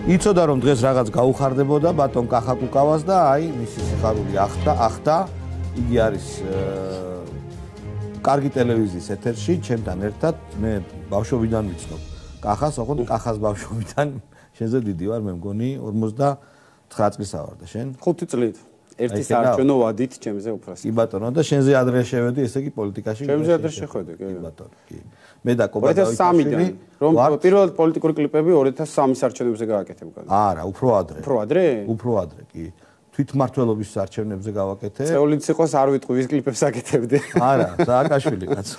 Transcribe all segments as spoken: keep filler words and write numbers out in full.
იცოდა რომ დღეს რაღაც გაუხარდებოდა ბატონ კახაკუკავას და აი მისი სიხარული ახდა ახდა იგი არის კარგი ტელევიზიის ეთერში ჩემთან ერთად მე ბავშვობიდან ვიცნობ კახას ოღონდ კახას ბავშვობიდან შენზე დიდი ვარ მე მგონი ორმოცდათხრა წლისა ვარ და შენ ხუთი წლით ერთი საარჩევნო ვადით ჩემზე უფროსი კი ბატონო და შენზე ადრე შევედი ესე იგი პოლიტიკაში ჩემზე ადრე შეხვედი კი ბატონო კი მე და კობადავიშვილი რომ პირველად პოლიტიკური კლიპები ორი ათას სამის არჩევნებზე გააკეთებდა არა უფრო ადრე უფრო ადრე უფრო ადრე კი თვითმმართველობის არჩევნებზე გავაკეთე წეულიც იყოს არ ვიტყვი ვის კლიპებს აკეთებდი არა სააკაშვილი კაცო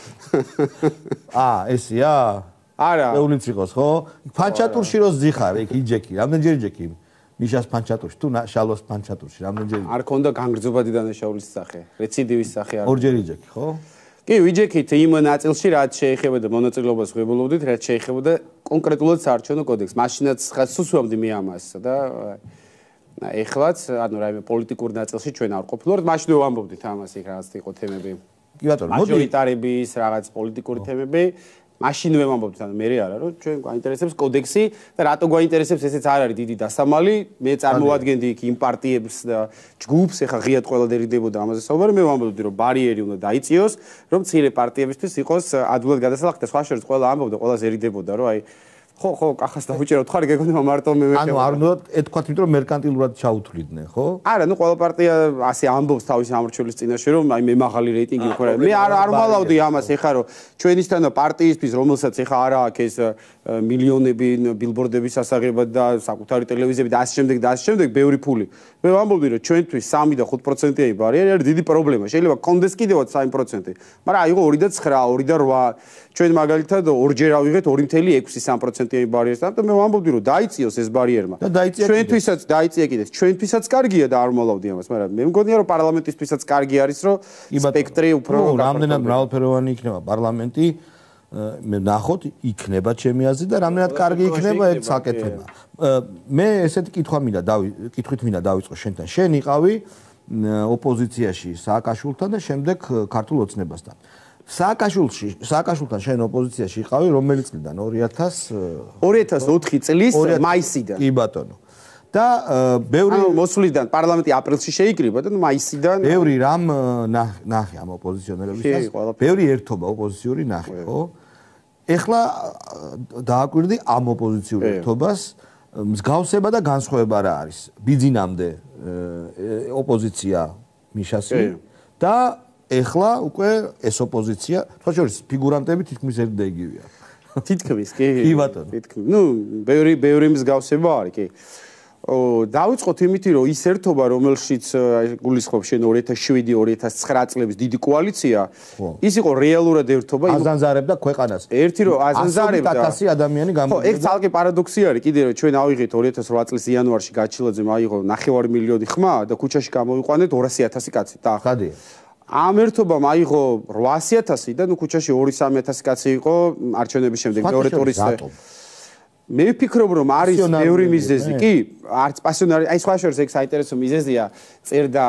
აა ესია არა წეულიც იყოს ხო ფანჩატურში რო ზიხარ იქ იჯექი რამდენჯერ იჯექი მიშას ფანჩატურში თუ შალოს ფანჩატურში რამდენჯერ არ ქონდა განგრძობადი დანაშაულის სახე რეციდივის სახე არ ორჯერ იჯექი ხო კი ვიჯექით იმ ნაწილში რაც შეეხებოდა მონაწილეობას ვებულობდით რაც შეეხებოდა კონკრეტულად საარჩევნო კოდექსს მაშინაც ხასუსვამდი მე ამასა და ეხლაც ანუ რაიმე პოლიტიკურ ნაწილში ჩვენ არ ყოფილვართ მაშინ ვამბობდით ამას იქ რაღაც იყო თემები კი ბატონო მოდი მაჟორიტარების რაღაც პოლიტიკური თემები მაშინ ვამბობთ ანუ მე არა რომ ჩვენ გვაინტერესებს კოდექსი და რატო გვაინტერესებს ესეც არ არის დიდი დასამალი მე წარმოვადგენდი იქ იმ პარტიებს და ჯგუფს ეხა ღიად ყველა დერიდებოდა ამაზე საუბარი მე ვამბობდი რომ ბარიერი უნდა დაიწიოს რომ მცირე პარტიებისთვის იყოს ადვილად გადასახადი და სხვა შორის ყველა ამბობდა ყველა ზერიდებოდა რომ აი ხო ხო კახას დავუჭერავთ ხარ გეგონება მარტო მე მე ანუ არ უნდა ეთქვათ იმიტომ რომ მერკანტილურად ჩაუთვლიდნენ ხო არა ნუ ყველა პარტია ასე ამბობს თავის ამორჩევის წინაშე რომ აი მე მაღალი რეიტინგი მქონდა მე არ არ ვალავდი ამას ეხა რომ ჩვენისთანა პარტიისთვის რომელსაც ეხა არა აქვს ეს მილიონები ბილბორდების სასაღებად და საკუთარი ტელევიზიები და ასე შემდეგ და ასე შემდეგ ბევრი ფული მე ვამბობდი რომ ჩვენთვის სამი და ხუთ პროცენტიანი ბარიერი არის დიდი პრობლემა შეიძლება კონდეს კიდევაც სამი პროცენტი მაგრამ აიღო ორი და ცხრა ორი და რვა ჩვენ მაგალითად ორჯერ ავიღეთ ორი წელი ექვსი სამი პროცენტიანი ბარიერს და მე ვამბობდი რომ დაიწიოს ეს ბარიერმა ჩვენთვისაც დაიწია კიდეც ჩვენთვისაც კარგია და არ მოლავდი ამას მაგრამ მე მგონია რომ პარლამენტისთვისაც კარგი არის რომ სპექტრი უფრო რამდენად მრავალფეროვანი იქნება პარლამენტი მე ნახოთ იქნება ჩემი აზრით და რამდენად კარგი იქნება ეს საკეთება მე ესეთი კითხვა მინდა კითხვით მინდა დავიწყო შენთან შენ იყავი ოპოზიციაში სააკაშვილთან და შემდეგ ქართულ ოცნებასთან სააკაშვილში სააკაშვილთან შენ ოპოზიციაში იყავი რომელი წლიდან ორი ათას ორი ათას ოთხი წლის მაისიდან კი ბატონო და ბევრი ანუ მოსვლიდან პარლამენტი აპრილში შეიკრიბა და მაისიდან ბევრი რამ ნახე ამ ოპოზიციონერებისას ბევრი ერთობა ოპოზიციური ნახე ხო ეხლა დააკვირდი ამ ოპოზიციურ ერთობას მსგავსება და განსხვავება რა არის ბიძინამდე ოპოზიცია მიშასი და ეხლა უკვე ეს ოპოზიცია სხვა შორის ფიგურანტები თითქმის ერთი და იგივეა თითქმის კი კი ბატონო თითქმის ნუ ბევრი ბევრი მსგავსება არის კი დავიწყოთ იმითი რომ ის ერთობა რომელშიც გულისხმობს შენ ორი ათას შვიდი ორი ათას ცხრა წლების დიდი კოალიცია ის იყო რეალურად ერთობა აზანზარებდა ქვეყანას ერთი რომ აზანზარებდა ათასი ადამიანი ხო ეგ ცალკე პარადოქსი არის კიდე რომ ჩვენ ავიღეთ ორი ათას რვა წლის იანვარში გაჩილაძემ აიღო ნახევარი მილიონი ხმა და ქუჩაში გამოვიყვანეთ ორასი ათასი კაცი და ხადია ამ ერთობამ აიღო რვასი ათასი და ნუ ქუჩაში ორი სამი ათასი კაცი იყო არჩევნების შემდეგ მეორე ტურის მე ვფიქრობ რომ არის ბევრი მიზეზი კი არც პასიონარი აი სხვა შორის ეგ საინტერესო მიზეზია წერდა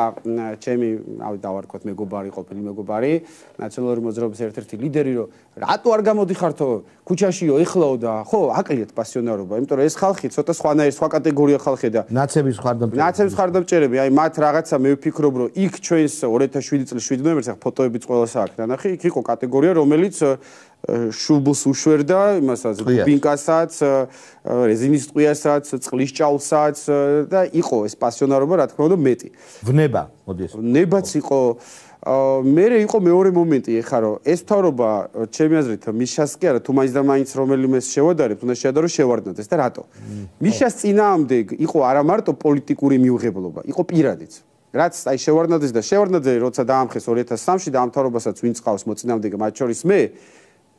ჩემი ავი დავარქვათ მეგობარი ყოფილი მეგობარი ნაციონალური მოძრაობის ერთ-ერთი ლიდერი რომ რატო არ გამოდიხართო ქუჩაშიო ეხლაო და ხო აკლიათ პასიონარობა იმიტომ რომ ეს ხალხი ცოტა სხვანაირი სხვა კატეგორია ხალხი და ნაცების ხარდამჭერები ნაცების ხარდამჭერები აი მათ რაღაცა მე ვფიქრობ რომ იქ ჩვენს ორი ათას შვიდი წლის შვიდი ნოემბერს ახ ფოტოებიც ყველას აქვს ნახე იქ იყო კატეგორია რომელიც შუბლს უშვერდა იმასაც ბინკასაც რეზინის ტყვიასაც წყლის ჭაულსაც და იყო ეს პასიონარობა რა თქმა უნდა მეტი ვნება მოდი ეს ვნებაც იყო მერე იყო მეორე მომენტი ეხა რომ ეს თავრობა ჩემი აზრით მიშას კი არა თუ მაინც და მაინც რომელიმეს შევადარებთ უნდა შეადარო შევარდნადეს და რატო მიშას წინაამდე იყო არა მარტო პოლიტიკური მიუღებლობა იყო პირადიც რაც აი შევარდნადეს და შევარდნაძე როცა დაამხეს ორი ათას სამში და ამ თავრობასაც ვინც ყავს მოწინააღმდეგე მათ შორის მე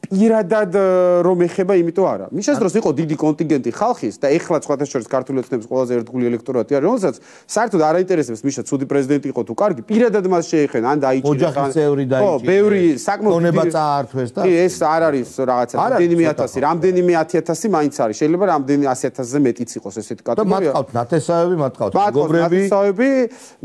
პირადად რომ ეხება იმიტომ არა მიშას დროს იყო დიდი კონტინგენტი ხალხის და ეხლა სხვათა შორის ქართული ოცნების ყველაზე ერთგული ელექტორატი არის რომელსაც საერთოდ არ აინტერესებს მიშა ცუდი პრეზიდენტი იყო თუ კარგი პირადად მას შეეხენ ან დაიჭირეს ოჯახის წევრი დაიჭირეს ხო ბევრი საკმაოდ ონება წაართვეს და კი ეს არ არის რაღაცა რამდენიმე ათასი რამდენიმე ათი ათასი მაინც არის შეიძლება რამდენი ასი ათასზე მეტიც იყოს ესეთი კატეგორია და მათ ყავთ ნათესავები მათ ყავთ მეგობრები ნათესავები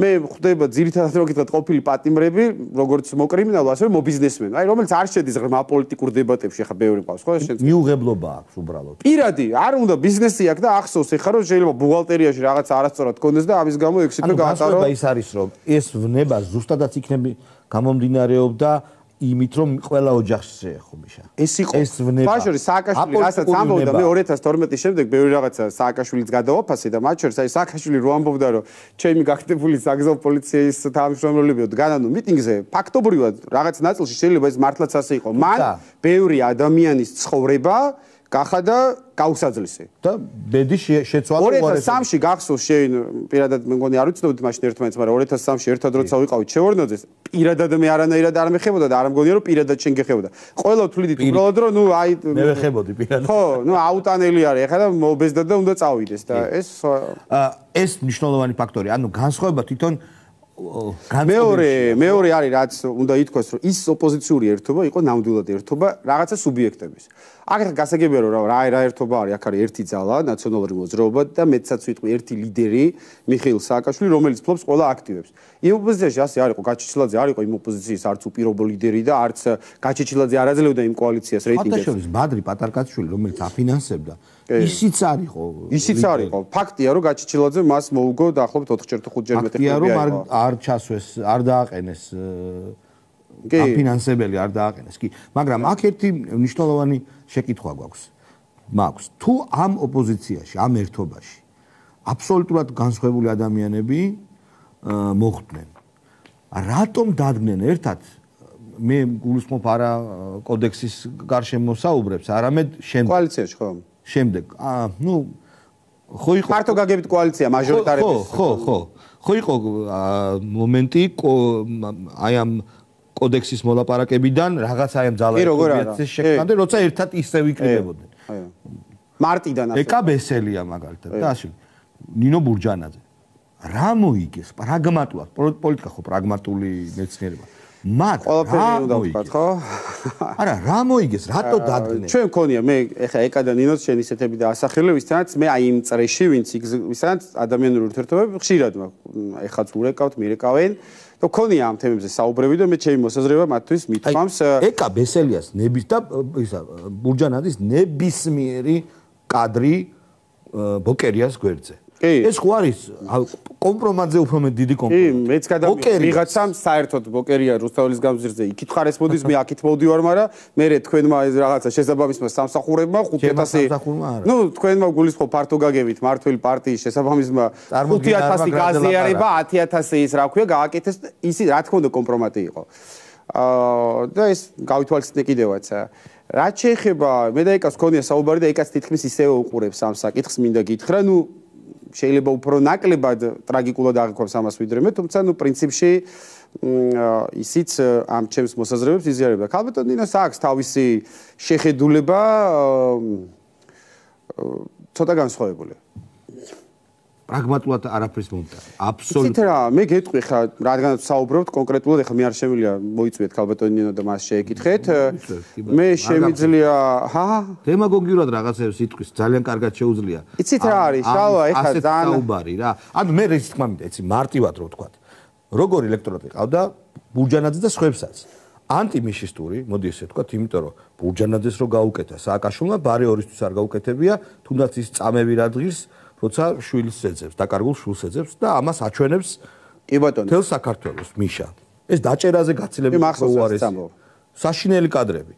მე ხვდება ძირითადად რო გითხრათ ყოფილი პატიმრები როგორც მოკრიმინალო ასევე მობიზნესმენი აი რომელიც არ შედის ღრმა პოლიტიკურ დებატებში ხა ბევრი ყავს ხო შენ მიუღებლობა აქვს უბრალოდ პირადი არ უნდა ბიზნესი აქვს და ახსოვს ეხლა რომ შეიძლება ბუღალტერიაში რაღაც არასწორად გქონდეს და ამის გამო ექსიტვე გაატარო ანუ ის არის რომ ეს ვნება ზუსტადაც იქნები გამომდინარეობდა იმით რომ ყველა ოჯახს შეეხო მიშა ეს იყო ეს ვნება ბაშორი სააკაშვილი რასაც ამბობდა მე ორი ათას თორმეტის შემდეგ ბევრი რაღაცა სააკაშვილიც გადავაფასე და მათ შორის აი სააკაშვილი რო ამბობდა რომ ჩემი გაკეთებული საგზაო პოლიციის თანამშრომლებიო დგანანო მიტინგზე ფაქტობრივად რაღაც ნაწილში შეიძლება ეს მართლაც ასე იყო მან ბევრი ადამიანის ცხოვრება გახადა გაუსაძლისი და ბედი შეცვალა ორი ათას სამში გახსოვს შენ პირადად მე მგონი არ ვიცნობთ მაშინ ერთმანეთს მაგრამ ორი ათას სამში ერთად როცა ვიყავით შევარდნაძეს პირადად მე არანაირად არ მეხებოდა და არ მგონია რომ პირადად შენ გეხებოდა ყველა თვლიდით უბრალოდ რომ ნუ აი მე ვეხებოდი პირადად ხო ნუ აუტანელი არის ეხლა და მობეზდა და უნდა წავიდეს და ეს ეს მნიშვნელოვანი ფაქტორი ანუ განსხვავება თვითონ მეორე მეორე არის რაც უნდა ითქვას რომ ის ოპოზიციური ერთობა იყო ნამდვილად ერთობა რაღაცა სუბიექტების აქ ახლა გასაგებია რომ რა რა ერთობა არის აქ არის ერთი ძალა ნაციონალური მოძრაობა და მეცაც ვიტყვი ერთი ლიდერი მიხეილ სააკაშვილი რომელიც ფლობს ყველა აქტივებს იმ ოპოზიციაში ასე არ იყო გაჩეჩილაძე არ იყო იმ ოპოზიციის არც უპირობო ლიდერი და არც გაჩეჩილაძე არ აძლევდა იმ კოალიციას რეიტინგებს ფაქტობრივად ბადრი პატარკაშვილი რომელიც აფინანსებდა ისიც არისო ისიც არისო ფაქტია რომ გაჩეჩილაძე მას მოუგო დაახლოებით ოთხჯერ თუ ხუთჯერ მეტი ფაქტია რომ არ არ ჩასვეს არ დააყენეს აფინანსებელი არ დააყენეს კი მაგრამ აქ ერთი მნიშვნელოვანი შეკითხვა გვაქვს მაქვს თუ ამ ოპოზიციაში ამ ერთობაში აბსოლუტურად განსხვავებული ადამიანები მოხვდნენ რატომ დადგნენ ერთად მე გულისხმობ არა კოდექსის გარშემო საუბრებს არამედ შემდეგ კოალიციაში ხო შემდეგ აა ნუ ხო იყო მარტო გაგებით კოალიცია მაჟორიტარების ხო ხო ხო იყო მომენტი აი ამ კოდექსის მოლაპარაკებიდან რაღაცა ამ ძალაერთობების შექმნამდე როცა ერთად ისე ვიკრიბებოდნენ მარტიდან ასე ეკა ბესელია მაგალითად და ასე ნინო ბურჯანაძე რა მოიგეს პრაგმატულად პოლიტიკა ხო პრაგმატული მეცნიერება მათ ყველაფერი უნდა ვთქვათ ხო არა რა მოიგეს რატო დადგნენ ჩვენ მქონია მე ეხა ეკა და ნინოს შენ ისეთები და ასახელე ვისთანაც მე აი იმ წრეში ვინც ვისთანაც ადამიანური ურთიერთობები ხშირად ეხაც ურეკავთ მირეკავენ და მქონია ამ თემებზე საუბრები და მე ჩემი მოსაზრება მათთვის მithmams ეკა ბესელიას ნების და ისა ბურჯანაძის ნებისმიერი კადრი ბოკერიას გვერდზე ეს ხო არის კომპრომატზე უფრო მე დიდი კომპრომატი. კი, მეც გადავიღე ვიღაცამ საერთოდ ბოკერია რუსთაველის გამზირზე იქით ხარეს მოდის, მე აქით მოვდივარ, მაგრამ მე თქვენმა ეს რაღაცა შესაბამისმა სამსახურებმა ხუთ ათასი ნუ თქვენმა გულისხმობ ფართო გაგებით მართველი პარტიის შესაბამისმა ხუთ ათასი გაზიარება ათი ათასი ის რა ქვია გააკეთეს ისი რა თქმა უნდა კომპრომატი იყო. აა და ეს გავითვალისწინე კიდევაც რაც შეეხება მე და ეკას ქონია საუბარი და ეკას თითქმის ისევე უყურებს ამ საკითხს მინდა გითხრა, ნუ შეიძლება უფრო ნაკლებად ტრაგიკულად აღიქვამს ამას ვიდრე მე, თუმცა ნუ პრინციპში ისიც ამ ჩემს მოსაზრებებს იზიარებდა. ქალბატონ ნინოს აქვს თავისი შეხედულება ცოტა განსხვავებული. პრაგმატულად არაფრის მომდა. აბსოლუტურად. ისეთ რა, მე გეტყვი ხა, რადგანაც საუბრობთ კონკრეტულად, ეხლა მე არ შემიძლია მოიწვიეთ ქალბატონ ნინო და მას შეეკითხეთ. მე შემიძლია, ჰა? დემაგოგიურად რაღაცებს იტყვის, ძალიან კარგად შეუძლია. იცით რა არის? შალვა, ეხლა ძალიან საუბარი რა. ანუ მე ის თქმა მინდა, იცი, მარტივად რო ვთქვა. როგორი ელექტორატი ყავდა ბურჯანაძე და სხვებსაც. ანტიმიშისტური, მოდი ესე ვთქვა, იმიტომ რომ ბურჯანაძეს რო გაუკეთა სააკაშვილმა, ბარე ორისთვის არ გაუკეთებია, თუნდაც ის წამები რა დღის როცა შვილს ეძებს, დაკარგულ შვილს ეძებს და ამას აჩვენებს კი ბატონო. თელ საქართველოს მიშა. ეს დაჭერაზე გაცილებით უარესი. საშინელი კადრები.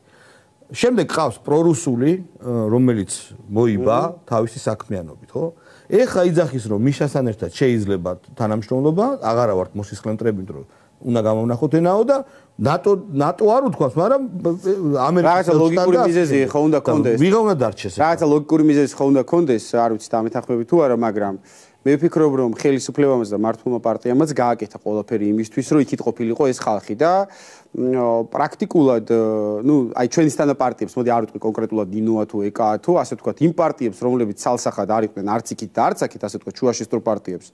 შემდეგ ყავს პრორუსული, რომელიც მოიბა თავისი საქმიანობით, ხო? ეხა იძახის რომ მიშასთან ერთად შეიძლება თანამშრომლობა, აღარა ვართ მოსისხლენტრებით, რომ უნდა გამოვნახოთ ენაო და ნატო ნატო არ უთქვას, მაგრამ ამერიკის რაღაცა ლოგიკური მიზეზი ხო უნდა კონდეს. ვიღა უნდა დარჩეს. რაღაცა ლოგიკური მიზეზი ხო უნდა კონდეს, არ ვიცი დამეთანხმები თუ არა, მაგრამ მე ვფიქრობ რომ ხელისუფლებამაც და მართლმა პარტიამაც გააკეთა ყველაფერი იმისთვის, რომ იქით ყოფილიყო ეს ხალხი და პრაქტიკულად, ნუ აი ჩვენისთანა პარტიებს, მოდი არ ვიტყვი კონკრეტულად ნინოა თუ ეკაა თუ ასე ვთქვათ, იმ პარტიებს, რომლებიც ცალსახად არ იყვნენ არც იქით და არც აქეთ, ასე ვთქვათ, შუაშისტრო პარტიებს.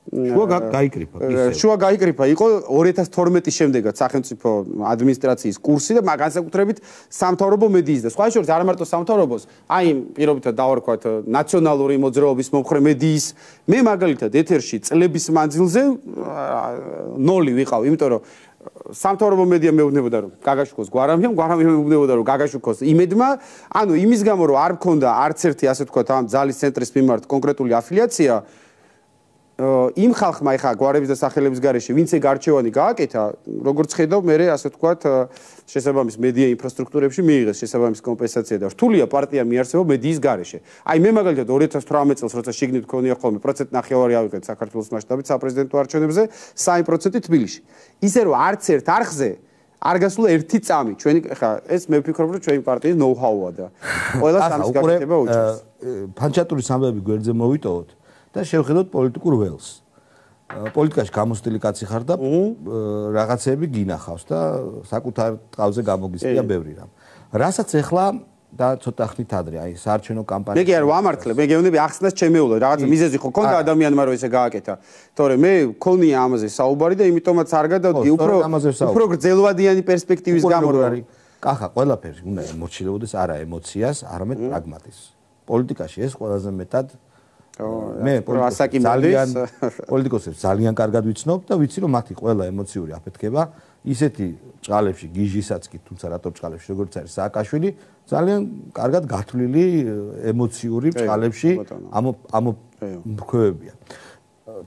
შუა გაიკრიფა, ისე. შუა გაიკრიფა, იყო ორი ათას თორმეტის შემდეგაც სახელმწიფო ადმინისტრაციის კურსი და განსაკუთრებით სამთავრობო მედიის და სხვა შორის არ მარტო სამთავრობოს, აი პირობითად დავარქვათ ნაციონალური მოძრაობის მომხრე მედიის მე მაგალითად ეთერში წლების მანძილზე ნოლი ვიყავ, იმიტომ რომ სამთავრობო მედია მეუბნებოდა რომ გაგაშუქოს გვარამია, გვარამია მეუბნებოდა რომ გაგაშუქოს იმედმა, ანუ იმის გამო რომ არ მქონდა არც ერთი ასე ვთქვათ ამ ძალის ცენტრის მიმართ კონკრეტული αφილიაცია იმ ხალხმა ეხა გვარების და სახელების გარეშე ვინც ეგ არჩევანი გააკეთა, როგორც ხედავ, მე ასე ვთქვათ, შესაბამის მედია ინფრასტრუქტურებში მიიღეს შესაბამის კომპენსაცია და რთულია პარტია მიარსება მედიის გარეშე. აი მე მაგალითად ორი ათას თვრამეტ წელს როცა შიგნით მქონია ხოლმე პროცენტ ნახევარი ავიღეთ საქართველოს მასშტაბით საპრეზიდენტო არჩევნებზე, სამი პროცენტი თბილისში. ისე რომ არც ერთ არხზე არ გასულა ერთი წამი. ჩვენი ეხა ეს მე ვფიქრობ რომ ჩვენი პარტიის ნოუ-ჰაუა და ყველა სამის გაკეთება უჭირს. ფანჩატურის ამბები გვერდზე მოვიტოვოთ. და შევხედოთ პოლიტიკურ ველს. პოლიტიკაში გამოსტილი კაცი ხარ და რაღაცები გინახავს და საკუთარ ტყავზე გამოგისწია ბევრი რამ. რასაც ეხლა და ცოტა ხნით ადრე, აი საარჩევნო კამპანია. მე კი არ ვამართლებ, მე გეუბნები ახსნას ჩემეულა, რაღაცა მიზეზი ხო ქონდა ადამიანმა რომ ესე გააკეთა. თორემ მე მქონია ამაზე საუბარი და იმიტომაც არ გადავდი უფრო უფრო გრძელვადიანი პერსპექტივის გამო რომ არის. კახა, ყველაფერი უნდა ემოცილებოდეს არა ემოციას, არამედ პრაგმატიზმს. პოლიტიკაში ეს ყველაზე მეტად მე ძალიან პოლიტიკოსებს ძალიან კარგად ვიცნობ და ვიცი რომ მათი ყველა ემოციური აფეთქება ისეთი ჭყალებში გიჟისაც კი თუმცა რატო ჭყალებში როგორც არის სააკაშვილი ძალიან კარგად გათვლილი ემოციური ჭყალებში ამ ამ მქონებია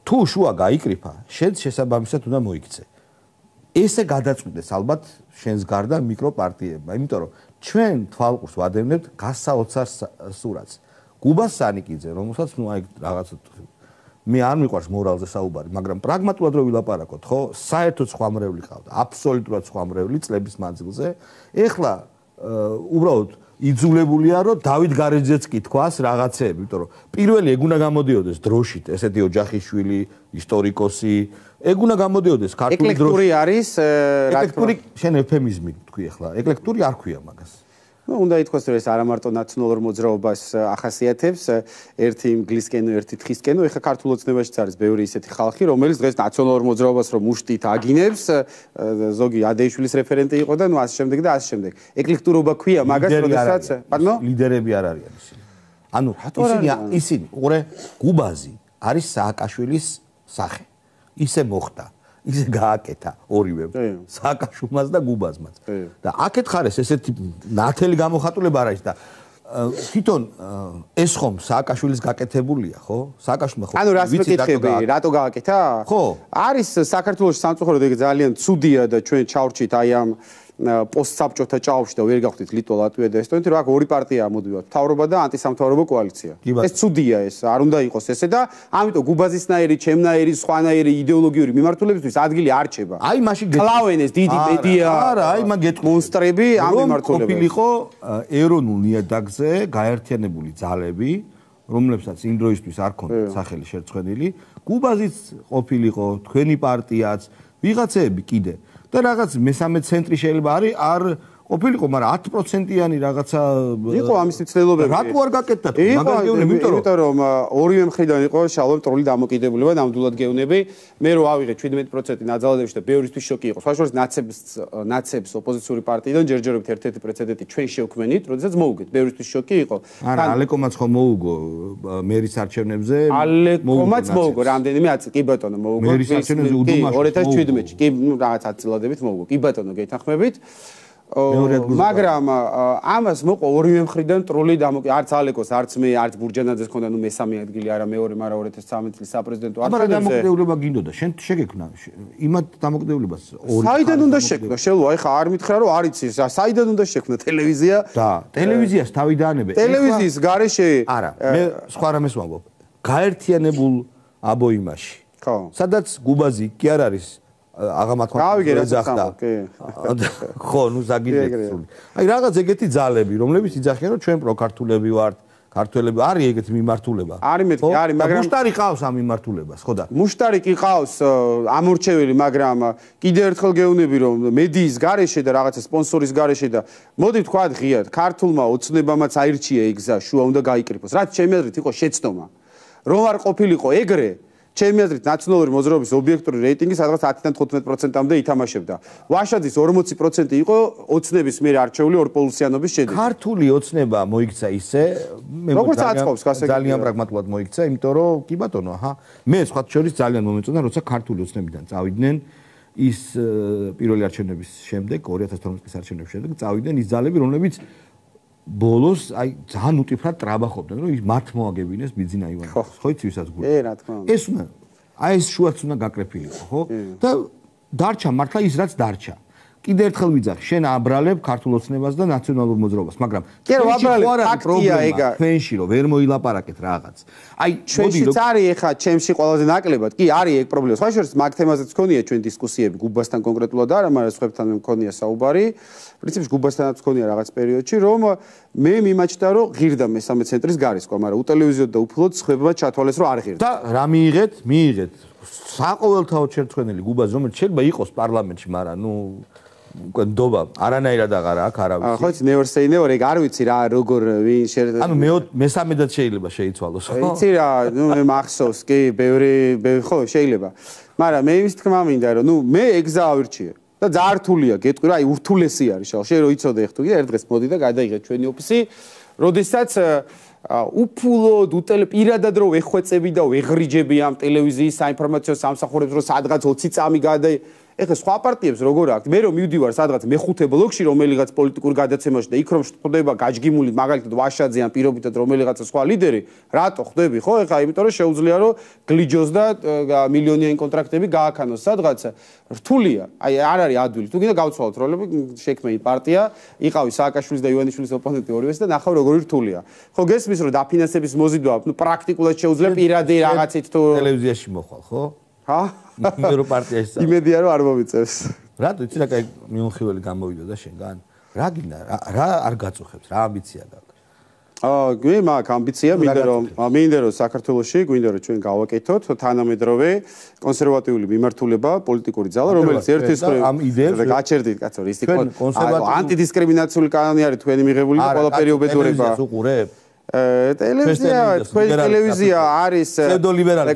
თუ შუა გაიკრიფა შენ შესაბამისად უნდა მოიქცე ესე გადაწყვიტეს ალბათ შენს გარდა მიკროპარტიებმა იმიტომ რომ ჩვენ თვალყურს ვადევნებთ გასაოცარ სურათს გუბას სანიკიძე, რომელსაც ნუ აი რაღაცა მე არ მიყვარს მორალზე საუბარი, მაგრამ პრაგმატულად რო ვილაპარაკოთ, ხო? საერთოდ სხვა მრევლი ყავდა, აბსოლუტურად სხვა მრევლი წლების მანძილზე. ეხლა უბრალოდ იძულებულია რომ დავით გარეჯეც კი თქვას რაღაცეები, იმიტომ რომ პირველი ეგ უნდა გამოდიოდეს დროშით, ესეთი ოჯახიშვილი, ისტორიკოსი, ეგ უნდა გამოდიოდეს ქართული დროშით. ეკლექტური არის, ეკლექტური შენ ეფემიზმი თქვი ეხლა, ეკლექტური არ ქვია მაგას. უნდა ითქვას რომ ეს არა მარტო ნაციონალურ მოძრაობას ახასიათებს, ერთი ინგლისკენო, ერთი თხისკენო, ეხა ქართულ ოცნებაშიც არის ბევრი ისეთი ხალხი, რომელიც დღეს ნაციონალურ მოძრაობას რომ მუშტით აგინებს, ზოგი ადეიშვილის რეფერენტი იყო და ნუ ასე შემდეგ და ასე შემდეგ. ეკლექტურობა ქვია მაგას, როდესაც, პარდნო? ლიდერები არ არიან ისინი. ანუ ისინი ისინი, უყურე, გუბაზი არის სააკაშვილის სახე. ისე მოხდა. ისე გააკეთა ორივე სააკაშვილმაც და გუბაზმაც და აქეთ ხარეს ესეთი ნათელი გამოხატულება არ არის და თვითონ ეს ხომ სააკაშვილის გაკეთებულია ხო სააკაშვილმა ხო ანუ რას მეკითხები რატო გააკეთა ხო არის საქართველოს სამწუხაროდ ეგ ძალიან ცუდია და ჩვენ ჩავრჩით აი ამ პოსტსაბჭოთა ჭაობში და ვერ გავხდით ლიტვა ლატვია და ესტონეთი რა ორი პარტია მოდივართ მთავრობა და ანტისამთავრობო კოალიცია ეს ცუდია ეს არ უნდა იყოს ესე და ამიტომ გუბაზისნაირი ჩემნაირი სხვანაირი იდეოლოგიური მიმართულებისთვის ადგილი არ რჩება აი მაშინ კლავენ ეს დიდი მედია არა აი მაგ გეტყვი მონსტრები ამ მიმართულებაში ყოფილიყო ეროვნულ ნიადაგზე გაერთიანებული ძალები რომლებსაც იმ დროისთვის არ ქონდათ სახელი შერწყენილი გუბაზიც ყოფილიყო თქვენი პარტიაც ვიღაცეები კიდე და რაღაც მესამე ცენტრი შეიძლება არის არ ყოფილიყო, მაგრამ ათი პროცენტიანი რაღაცა იყო ამის მცდელობები. რატო არ გაკეთდა? მაგას გეუბნები, იმიტომ რომ ორივე მხრიდან იყო შალვა მტრული დამოკიდებულება, ნამდვილად გეუბნები. მე რო ავიღე შვიდმეტი პროცენტი ნაძალადებში და ბევრისთვის შოკი იყო. სხვა შორის ნაცებს ნაცებს ოპოზიციური პარტიიდან ჯერჯერობით ერთ-ერთი პრეცედენტი ჩვენ შევქმნით, როდესაც მოუგეთ. ბევრისთვის შოკი იყო. არა, ალეკომაც ხო მოუგო მერის არჩევნებზე. ალეკომაც მოუგო, რამდენიმე აწი, კი ბატონო, მოუგო. მერის არჩევნებზე უდუმაშ ორი ათას შვიდმეტში, კი, ნუ რაღაც აწილადებით მოუგო. კი ბატონო, გეთანხმებით. მაგრამ ამას მოყვა ორივე მხრიდან ტრული დამოკიდებული არც ალეკოს არც მე არც ბურჯანაძეს ქონდა ნუ მესამე ადგილი არა მეორე მაგრამ ორი ათას ცხრამეტ წლის საპრეზიდენტო არჩევნებზე მაგრამ დამოკიდებულება გინდოდა შენ შეგექმნა იმათ დამოკიდებულებას ორი საიდან უნდა შექმნა შელო აი ხა არ მითხრა რომ არ იცის საიდან უნდა შექმნა ტელევიზია და ტელევიზიას თავი დაანებე ტელევიზიის გარეშე არა მე სხვა რამეს ვამბობ გაერთიანებულ აბოიმაში ხო სადაც გუბაზი კი არ არის აღამათქვა ეძახდა ხო ნუ ზაგიძე აი რაღაც ეგეთი ძალები რომლებიც იძახიან რომ ჩვენ პროქართულები ვართ ქართველები არის ეგეთი მიმართულება არის მეთქი არის მაგრამ მუშტარი ყავს ამ მიმართულებას ხო და მუშტარი კი ყავს ამორჩეველი მაგრამ კიდევ ერთხელ გეუბნები რომ მედიის გარეშე და რაღაცა სპონსორის გარეშე და მოდი ვთქვათ ღიად ქართულმა ოცნებამაც აირჩია ეგ გზა შუა უნდა გაიკრიფოს რაც ჩემი აზრით იყო შეცდომა რომ არ ყოფილიყო ეგრე ჩემი აზრით ნაციონალური მოძრაობის ობიექტური რეიტინგი სადღაც ათიდან თხუთმეტ პროცენტამდე ითამაშებდა. ვაშაძის ორმოცი პროცენტი იყო ოცნების მიერ არჩეული ორპოლუსიანობის შედეგი. ქართული ოცნება მოიქცა ისე, მე ძალიან პრაგმატულად მოიქცა, იმიტომ რომ კი ბატონო, აჰა, მე სხვა შორის ძალიან მომეწონა, როცა ქართული ოცნებიდან წავიდნენ ის პირველი არჩევნების შემდეგ, ორი ათას თორმეტი წლის არჩევნების შემდეგ წავიდნენ ის ძალები, რომლებიც ბოლოს აი ძალიან უტიფრად ტრაბახობდნენ, რომ ის მათ მოაგებინეს ბიძინა ივანოვს, ხო იცი ვისაც გული. ე, რა თქმა უნდა. ეს უნდა აი ეს შუაც უნდა გაკრეფილიყო, ხო? და დარჩა მართლა ის რაც დარჩა. კიდე ერთხელ ვიძახი, შენ აბრალებ ქართულ ოცნებას და ნაციონალურ მოძრაობას, მაგრამ კი რა ვაბრალებ, ფაქტია ეგა. ჩვენში რომ ვერ მოილაპარაკეთ რაღაც. აი, ჩვენშიც არის ეხა ჩემში ყველაზე ნაკლებად. კი, არის ეგ პრობლემა. სხვა შორის მაგ თემაზეც გქონია ჩვენ დისკუსიები გუბასთან კონკრეტულად არა, მაგრამ სხვებთან მქონია საუბარი. პრინციპში გუბასთანაც მქონია რაღაც პერიოდში, რომ მე მიმაჩნდა, რომ ღირდა მესამე ცენტრის გარისკვა, მაგრამ უტელევიზიოდ და უფლოდ სხვებმა ჩათვალეს, რომ არ ღირდა. და რა მიიღეთ? მიიღეთ საყოველთაოდ შერცხვენილი გუბაზი, რომელიც შეიძლება იყოს პარლამენტში, მაგრამ ნუ უკვე ნდობა არანაირად აღარ აქვს არავის. ხო იცი never say never, ეგ არ ვიცი რა როგორ ვინ შე ანუ მე მესამედაც შეიძლება შეიცვალოს, ხო? იცი რა, ნუ მე მახსოვს, კი, ბევრი, ხო, შეიძლება. მაგრამ მე იმის თქმა მინდა, რომ ნუ მე ეგზა ავირჩიე. და ძალიან რთულია, გეტყვი რა, აი ურთულესი არის შალ. შენ რო იცოდე ხთუ, კიდე ერთ დღეს მოდი და გადაიღე ჩვენი ოფისი, როდესაც უფულოდ უტელ პირადად რო ვეხვეწები და ვეღრიჯები ამ ტელევიზიის საინფორმაციო სამსახურებს, რომ სადღაც ოცი წამი გადაი ეხლა სხვა პარტიებს როგორ აქვს? მე რომ მივდივარ სადღაც მეხუთე ბლოკში რომელიღაც პოლიტიკურ გადაცემაში და იქ რომ ხდება გაჯგიმული მაგალითად ვაშაძე ან პირობითად რომელიღაცა სხვა ლიდერი, რატო ხდები, ხო? ეხლა იმიტომ რომ შეუძლია რომ გლიჯოს და მილიონიანი კონტრაქტები გააქანოს სადღაც. რთულია. აი არ არის ადვილი. თუ გინდა გავცვალოთ როლები, შექმენი პარტია, იყავი სააკაშვილის და ივანიშვილის ოპონენტი ორივეს და ნახავ როგორი რთულია. ხო გესმის რომ დაფინანსების მოზიდვა, ნუ პრაქტიკულად შეუძლია პირადი რაღაცით თუ ტელევიზიაში მოხვალ, ხო? ჰა? იმერო პარტიაში. იმედია რომ არ მომიწევს. რატო იცი რა კაი მიუნხიველი გამოვიდა და შენგან? რა გინდა? რა არ გაწუხებს? რა ამბიცია გაქვს? აა, გვი მაქვს ამბიცია, მინდა რომ მინდა რომ საქართველოში გვინდა რომ ჩვენ გავაკეთოთ თანამედროვე კონსერვატიული მიმართულება, პოლიტიკური ძალა, რომელიც ერთის ამ იდეებს გაჩერდით, კაცო, ის იყო ანტიდისკრიმინაციული კანონი არის თქვენი მიღებული და ყველაფერი უბედურება. ტელევიზია, თქვენი ტელევიზია არის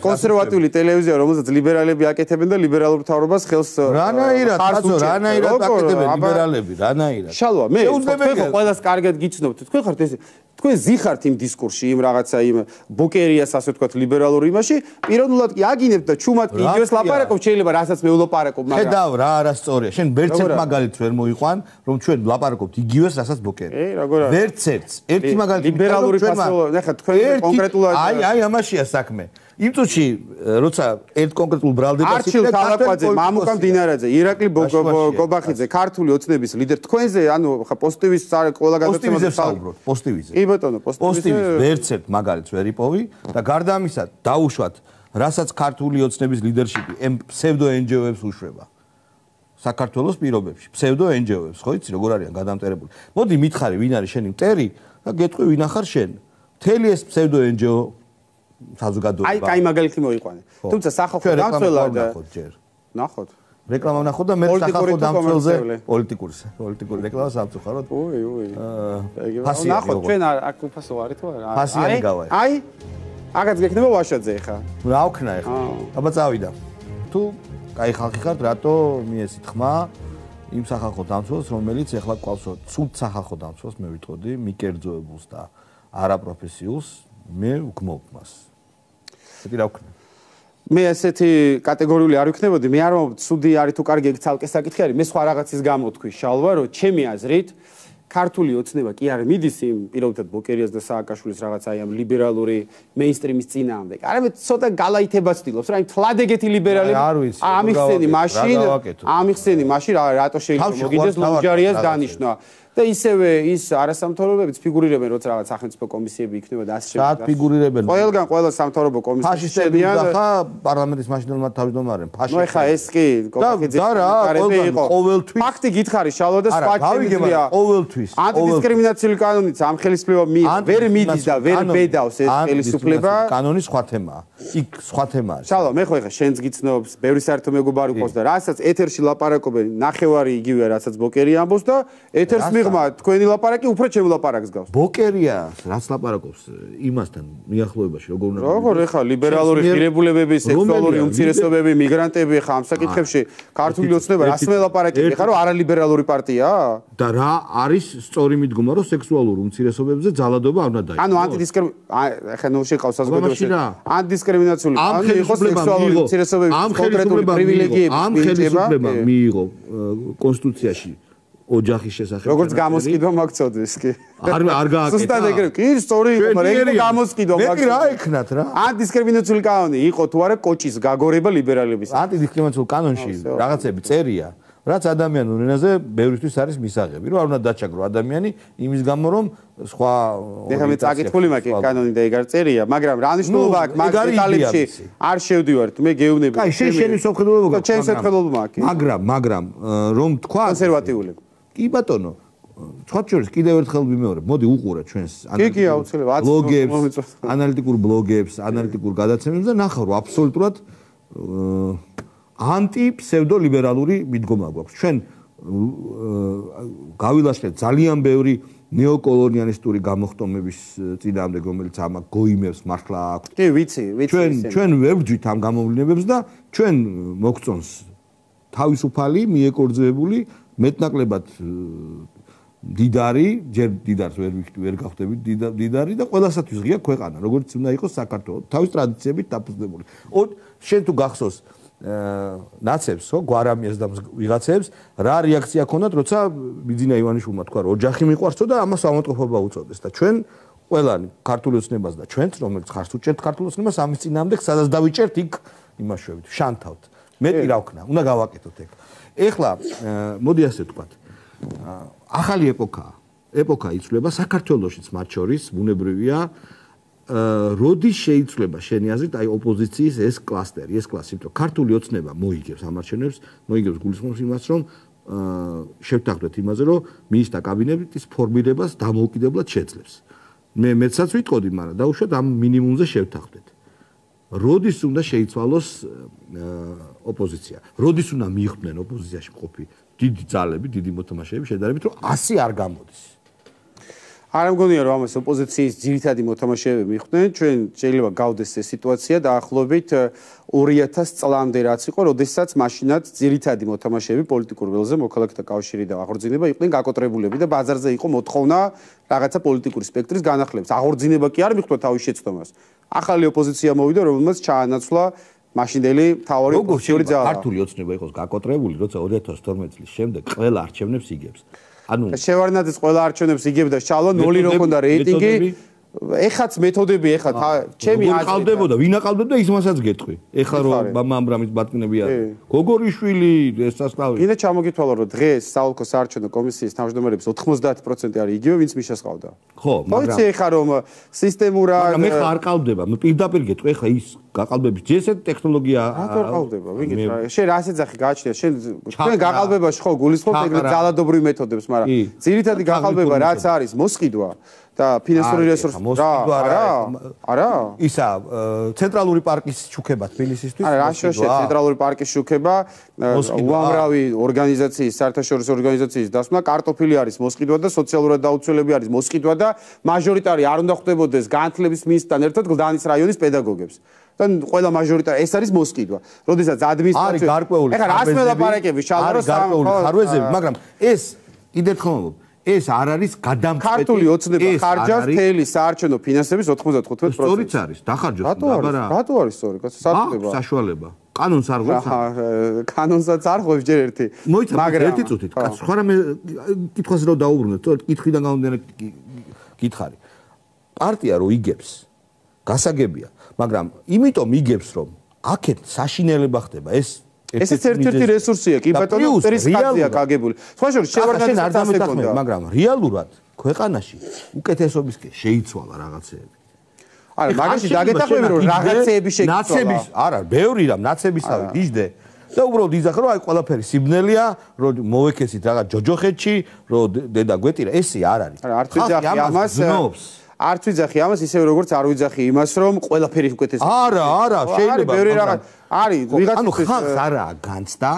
კონსერვატიული ტელევიზია, რომელსაც ლიბერალები აკეთებენ და ლიბერალურ მთავრობას ხელს რანაირად, კაცო, რანაირად აკეთებენ ლიბერალები, რანაირად. შალვა, მე თქვენ ყველას კარგად გიცნობთ, თქვენ ხართ ეს თქვენ ზიხართ იმ დისკურსში, იმ რაღაცა იმ ბოკერიას ასე ვთქვათ ლიბერალურ იმაში, პიროვნულად კი აგინებთ და ჩუმად კი იგივეს ლაპარაკობ, შეიძლება რასაც მე ვლაპარაკობ, მაგრამ ხედავ რა არასწორია. შენ ვერცერთ მაგალითს ვერ მოიყვან, რომ ჩვენ ვლაპარაკობთ იგივეს რასაც ბოკერი. ე, როგორ არის? ვერცერთ, ერთი მაგალითი ლიბერალური ფასოლო, ნახე, თქვენ კონკრეტულად აი, აი ამაშია საქმე. იმ წუთში, როცა ერთ კონკრეტულ ბრალდებას არჩილ თალაკვაძე, მამუკა მდინარაძე, ირაკლი გობახიძე, ქართული ოცნების ლიდერი, თქვენზე, ანუ ხა პოზიტივის ყველა გადაცემაზე საუბრობთ, პოზიტივიზე. კი ბატონო, პოზიტივის ვერცერთ მაგალითს ვერ იპოვი და გარდა ამისა, დაუშვათ, რასაც ქართული ოცნების ლიდერშიპი ემ ფსევდო ენჯეოებს უშვება. საქართველოს პირობებში, ფსევდო ენჯეოებს, ხო იცი, როგორ არიან გადამტერებული. მოდი მითხარი, ვინ არის შენი მტერი და გეტყვი ვინ ახარ შენ. მთელი ეს ფსევდო ენჯეო საზოგადოება. აი, კაი მაგალითი მოიყვანე. თუმცა სახალხო დამცველად ნახოთ ჯერ. ნახოთ. რეკლამა ნახოთ და მე სახალხო დამცველზე პოლიტიკურს, პოლიტიკური რეკლამა სამწუხაროდ. უი, უი. აა, ნახოთ, ჩვენ აქ უფასო არის თუ არა? ფასიანი გავაი. აი, აგაც გექნება ვაშაძე ხა. რა ვქნა ხა? აბა წავიდა. თუ კაი ხალხი ხართ, რატო მიესით ხმა იმ სახალხო დამცველს, რომელიც ეხლა ყავსო, ცუდ სახალხო დამცველს მე ვიტყოდი, მიკერძოებულს და არაპროფესიულს, მე ვგმობ მას. ესეთი რა ვქნა? მე ესეთი კატეგორიული არ ვიქნებოდი, მე არ მომწ ცუდი არის თუ კარგი ეგ ცალკე საკითხი არის, მე სხვა რაღაცის გამო თქვი შალვა, რომ ჩემი აზრით ქართული ოცნება კი არ მიდის იმ პირობითად ბოკერიას და სააკაშვილის რაღაც აი ამ ლიბერალური მეინსტრიმის წინააღმდეგ. არამედ ცოტა გალაითებას ცდილობს, რა იმ თლად ეგეთი ლიბერალები ამიხსენი მაშინ, ამიხსენი მაშინ რატო შეიძლება მოგიდეს ლუჯარიას დანიშნვა. და ისევე ის არასამთავრობოებიც ფიგურირებენ, როცა რაღაც სახელმწიფო კომისიები იქნება და ასე შემდეგ. საათ ფიგურირებენ. ყველგან ყველა სამთავრობო კომისიები და ხა პარლამენტის მაშინდელმა თავმჯდომარემ ფაშისტები. ნუ ეხა ეს კი კოკაკიძე კარები იყო. ყოველთვის ფაქტი გითხარი შალვა და სხვა ჩემია. ყოველთვის. ანტიდისკრიმინაციული კანონიც ამ ხელისუფლება ვერ მიდის და ვერ ბედავს ეს ხელისუფლება. კანონი სხვა თემაა. იქ სხვა თემაა. შალვა მე ხო ეხა შენს გიცნობს, ბევრი საერთო მეგობარი ყავს და რასაც ეთერში ლაპარაკობენ, ნახევარი იგივეა, რასაც ბოკერი ამბობს და ეთერს მიღმა თქვენი ლაპარაკი უფრო ჩემ ლაპარაკს გავს. ბოკერია, რაც ლაპარაკობს იმასთან მიახლოებაში როგორ უნდა როგორ ეხა ლიბერალური ღირებულებები, სექსუალური უმცირესობები, მიგრანტები ხა ამ საკითხებში ქართული ოცნება რას მელაპარაკები ხა რომ არალიბერალური პარტიაა? და რა არის სწორი მიდგომა რომ სექსუალურ უმცირესობებზე ძალადობა არ უნდა დაიწყოს. ანუ ანტიდისკრიმინაცია ხა ნუ შეყავს საზოგადოებაში. ანტიდისკრიმინაციული ანუ იყო სექსუალური უმცირესობების კონკრეტული პრივილეგიები. ამ ხელისუფლება მიიღო კონსტიტუციაში ოჯახის შესახებ. როგორც გამოსყიდვა მაგწოდეს კი. არ არ გააკეთა. ზუსტად ეგრე კი სწორი იყო, მაგრამ გამოსყიდვა მაგწოდეს. მე რა ეკნათ რა? ანტიდისკრიმინაციული კანონი იყო თუ არა კოჭის გაგორება ლიბერალების. ანტიდისკრიმინაციული კანონში რაღაცები წერია. რაც ადამიანურ ენაზე ბევრისთვის არის მისაღები, რომ არ უნდა დაჩაგრო ადამიანი იმის გამო რომ სხვა ეხლა მე წაკითხული მაქვს კანონი და ეგ არ წერია, მაგრამ რა მნიშვნელობა აქვს მაგ დეტალებში არ შევდივართ, მე გეუბნები. აი, შენ შენი სოფხედულობა გაქვს. ჩემს სოფხედულობა მაქვს. მაგრამ, მაგრამ რომ თქვა კონსერვატიულები. კი ბატონო, სხვათა შორის კიდევ ერთხელ ვიმეორებ, მოდი უყურე ჩვენს ბლოგებს, ანალიტიკურ ბლოგებს, ანალიტიკურ გადაცემებს და ნახავ რომ აბსოლუტურად ანტი-ფსევდოლიბერალური მიდგომა გვაქვს. ჩვენ გავილაშქრეთ ძალიან ბევრი ნეოკოლონიალისტური გამოხტომების წინააღმდეგ, რომელიც ამას გოიმებს მართლა აქვს. კი, ვიცი, ვიცი. ჩვენ ჩვენ ვერ ვძვით ამ გამოვლენებს და ჩვენ მოგწონს თავისუფალი, მიეკორძებული, მეტნაკლებად დიდარი, ჯერ დიდარს ვერ ვერ გავხდებით დიდარი და ყველასათვის ღია ქვეყანა, როგორც უნდა იყოს საქართველო, თავის ტრადიციებით დაფუძნებული. შენ თუ გახსოვს ნაცებს, ხო, გვარამიას და ვიღაცებს, რა რეაქცია ქონდათ, როცა ბიძინა ივანიშვილმა თქვა, რომ ოჯახი მიყვარსო და ამას ავადმყოფობა უწოდეს და ჩვენ ყველანი ქართული ოცნებას და ჩვენც, რომელიც ხარს უჭერთ ქართულ ოცნებას, ამის წინააღმდეგ სადაც დავიჭერთ, იქ იმაშვებით, შანთავთ. მეტი რა ვქნა, უნდა გავაკეთოთ ეგ. ეხლა მოდი ასე ვთქვათ. ახალი ეპოქაა. ეპოქა იცვლება საქართველოშიც მათ შორის, ბუნებრივია. როდის შეიცვლება შენი აზრით აი ოპოზიციის ეს კლასტერი, ეს კლასი, იმიტომ რომ ქართული ოცნება მოიგებს ამარჩენებს, მოიგებს გულისხმობს იმას, რომ შევთანხმდეთ იმაზე, რომ მინისტრთა კაბინეტის ფორმირებას დამოუკიდებლად შეძლებს. მე მეცაც ვიტყოდი, მაგრამ დაუშვათ ამ მინიმუმზე შევთანხმდეთ. როდის უნდა შეიცვალოს ოპოზიცია? როდის უნდა მიიღდნენ ოპოზიციაში მყოფი დიდი ძალები, დიდი მოთამაშეები შედარებით, რომ ასი არ გამოდის? არ მგონია რომ ამას ოპოზიციის ძირითადი მოთამაშეები მიხვდნენ, ჩვენ შეიძლება გავდეს ეს სიტუაცია დაახლოებით ორი ათას წლამდე რაც იყო, როდესაც მაშინაც ძირითადი მოთამაშეები პოლიტიკურ ველზე მოქალაქეთა კავშირი და აღორძინება იყვნენ გაკოტრებულები და ბაზარზე იყო მოთხოვნა რაღაცა პოლიტიკური სპექტრის განახლებას. აღორძინება კი არ მიხვდა თავის შეცდომას. ახალი ოპოზიცია მოვიდა, რომელმაც ჩაანაცვლა მაშინდელი მთავარი ოპოზიციური ძალა. ქართული ოცნება იყოს გაკოტრებული, როცა ორი ათას თორმეტი წლის შემდეგ ყველა არჩევნებს იგებს. ანუ შევარნაძის ყველა არჩევნებს იგებდა შალვა ნული რო ქონდა რეიტინგი ეხაც მეთოდები ეხა ჩემი აზრით ყავდებოდა ვინ აყავდებდა ის მასაც გეტყვი ეხა რომ მამამ ამბრამის ბატკნები არის გოგორიშვილი ეს სასწავლი კიდე ჩამოგითვალა რომ დღეს საოლქო საარჩევნო კომისიის თავმჯდომარების ოთხმოცდაათი პროცენტი არის იგივე ვინც მიშას ყავდა ხო მაგრამ ხო ეხა რომ სისტემურად მე ხარ ყავდება მე პირდაპირ გეტყვი ეხა ის გაყალბების ჯესეთ ტექნოლოგია რატო ყავდება ვიგეთ რა შენ რა შეძახი გააჩნია შენ თქვენ გაყალბებაში ხო გულისხმობთ ეგრეთ ძალადობრივ მეთოდებს მაგრამ ძირითადი გაყალბება რაც არის მოსყიდვა და ფინანსური რესურსი რა არა ისა ცენტრალური პარკის შუქება თბილისისთვის არა რა შეიძლება ცენტრალური პარკის შუქება უამრავი ორგანიზაციის საერთაშორისო ორგანიზაციის დასმა კარტოფილი არის მოსყიდვა და სოციალურად დაუცველები არის მოსყიდვა და მაჟორიტარი არ უნდა ხვდებოდეს განათლების მინისტრთან ერთად გლდანის რაიონის პედაგოგებს და ყველა მაჟორიტარი ეს არის მოსყიდვა. როდესაც ადმინისტრაცია არის გარკვეული ეხლა რას მელაპარაკები შალვა არის გარკვეული ხარვეზები მაგრამ ეს კიდევ ხომ ეს არ არის გადამწყვეტი ქართული ოცნება ხარჯავს მთელი საარჩევნო ფინანსების ოთხმოცდათხუთმეტ პროცენტს. სწორიც არის, დახარჯოს დაბარა. რატო არის სწორი? სათქდება. საშუალება. კანონს არ ღვევს? კანონსაც არ ღვევს ჯერ ერთი. მაგრამ ერთი წუთით, კაც სხვა რამე კითხვას რო დაუბრუნოთ, კითხვიდან გამომდინარე კითხარი. პარტია რო იგებს, გასაგებია, მაგრამ იმიტომ იგებს, რომ აქეთ საშინელება ხდება, ეს ესეც ერთ-ერთი რესურსია, კი ბატონო, პერსკაცია გაგებული. სხვა შორის შევარდნაძე არ დამეთანხმება, მაგრამ რეალურად ქვეყანაში უკეთესობისკენ შეიცვალა რაღაცეები. არა, მაგაში დაგეთახმები რომ რაღაცეები შეიცვალა. ნაცების, არა, ბევრი რამ ნაცებისავე დიჟდე. და უბრალოდ იზახ რომ აი ყველაფერი სიბნელია, რომ მოვეკესით რაღაც ჯოჯოხეთში, რომ დედა გვეტირა, ესე არ არის. არა, არ ვიძახი ამას. არ ვიძახი ამას ისევე როგორც არ ვიძახი იმას რომ ყველაფერი უკეთესია. არა, არა, შეიძლება ბევრი რაღაც არის ვიღაც ანუ ხალხს არა განცდა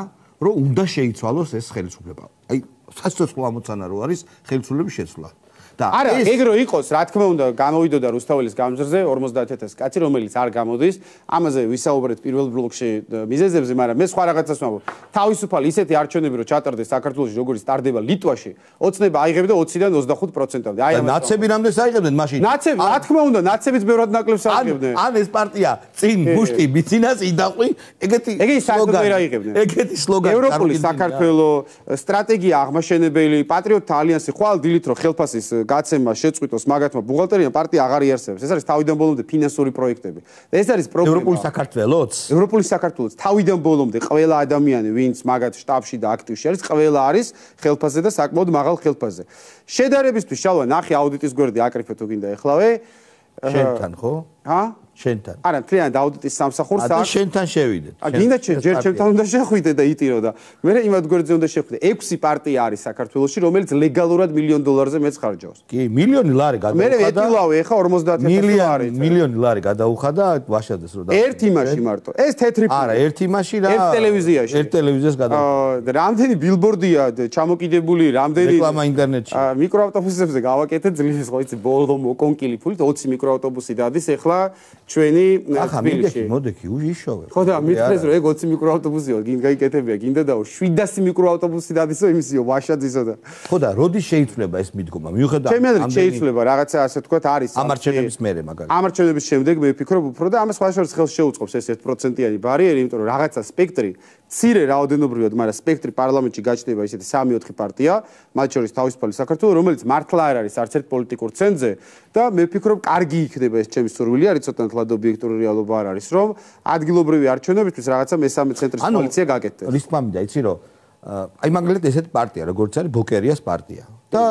რომ უნდა შეიცვალოს ეს ხელისუფლება. აი სასიცოცხლო ამოცანა რო არის ხელისუფლების შეცვლა. არა, ეგ რო იყოს, რა თქმა უნდა, გამოვიდოდა რუსთაველის გამზრზე ორმოცდაათ ათასი კაცი, რომელიც არ გამოდის. ამაზე ვისაუბრეთ პირველ ბლოკში მიზეზებზე, მაგრამ მე სხვა რაღაცას ვამბობ. თავისუფალი ისეთი არჩევნები რო ჩატარდეს საქართველოში, როგორც ტარდება ლიტვაში, ოცნება აიღებდა ოციდან ოცდახუთ პროცენტამდე. აი ამას. ნაცები რამდენს აიღებდნენ მაშინ? ნაცები, რა თქმა უნდა, ნაცებიც ბევრად ნაკლებს აიღებდნენ. ან ეს პარტია წინ მუშტი ბიცინას იდაყვი, ეგეთი სლოგანი. ეგეთი სლოგანი. ევროპული საქართველოს სტრატეგია აღმაშენებელი, პატრიოტთა ალიანსი ხვალ დილით რო ხელფასის გაცემა შეწყვიტოს მაგათმა ბუღალტერია პარტია აღარ იარსებებს. ეს არის თავიდან ბოლომდე ფინანსური პროექტები. ეს არის პრობლემა. ევროპული საქართველოს? ევროპული საქართველოს თავიდან ბოლომდე ყველა ადამიანი, ვინც მაგათ შტაბში და აქტივში არის, ყველა არის ხელფასზე და საკმაოდ მაღალ ხელფასზე. შედარებისთვის შალვა ნახე აუდიტის გვერდი აკრიფე თუ გინდა ეხლავე. შენთან ხო? ჰა? შენთან. არა, მთლიანად აუდიტის სამსახურს და შენთან შევიდეთ. ა გინდა ჯერ ჩემთან უნდა შეხვიდე და იტირო და მე იმად გვერდზე უნდა შეხვიდე. ექვსი პარტია არის საქართველოში, რომელიც ლეგალურად მილიონ დოლარზე მეც ხარჯავს. კი, მილიონი ლარი გადაუხადა. მე ეტილავე ხა ორმოცდაათი ათასი ლარი. მილიონი ლარი გადაუხადა ვაშადეს რო და. ერთ იმაში მარტო. ეს თეთრი არა, ერთ იმაში რა. ერთ ტელევიზიაში. ერთ ტელევიზიას გადაუხადა. რამდენი ბილბორდია ჩამოკიდებული, რამდენი რეკლამა ინტერნეტში. მიკროავტობუსებზე გავაკეთე ძლივს ხო იცი ბოლო მოკონკილი ფულით ოცი მიკროავტობუსი დადის ახლა ჩვენი ახლა მიდექი მოდექი უშიშოვე ხო და მithres რომ ეგ ოცი მიკროავტობუსიო გინ გაიკეთებია გინდა და შვიდასი მიკროავტობუსი დადისო იმისიო ვაშაძისო და ხო და როდის შეიცვლება ეს მიდგომა მიუხედავად ჩემი აზრით შეიცვლება რაღაცა ასე თქვა არის ამარჩევნების მერე მაგალითად ამარჩევნების შემდეგ მე ვფიქრობ უფრო და ამას სხვაშორის ხელს შეუწყობს ეს ერთ პროცენტიანი ბარიერი იმიტომ რომ რაღაცა სპექტრი ცირე რაოდენობრივად მაგრამ სპექტრი პარლამენტში გაჩნდება ისეთი სამი ოთხი პარტია მათ შორის თავისუფალი საქართველო რომელიც მართლა არ არის არც ერთ პოლიტიკურ ცენზე და მე ვფიქრობ კარგი იქნება ეს ჩემი სურვილი არის ცოტა თლად ობიექტური რეალობა არ არის რომ ადგილობრივი არჩევნებისთვის რაღაცა მესამე ცენტრის კოალიცია გაკეთდეს რის თქმა უნდა იცი რომ აი მაგალითად ესეთი პარტია როგორც არის ბოკერიას პარტია და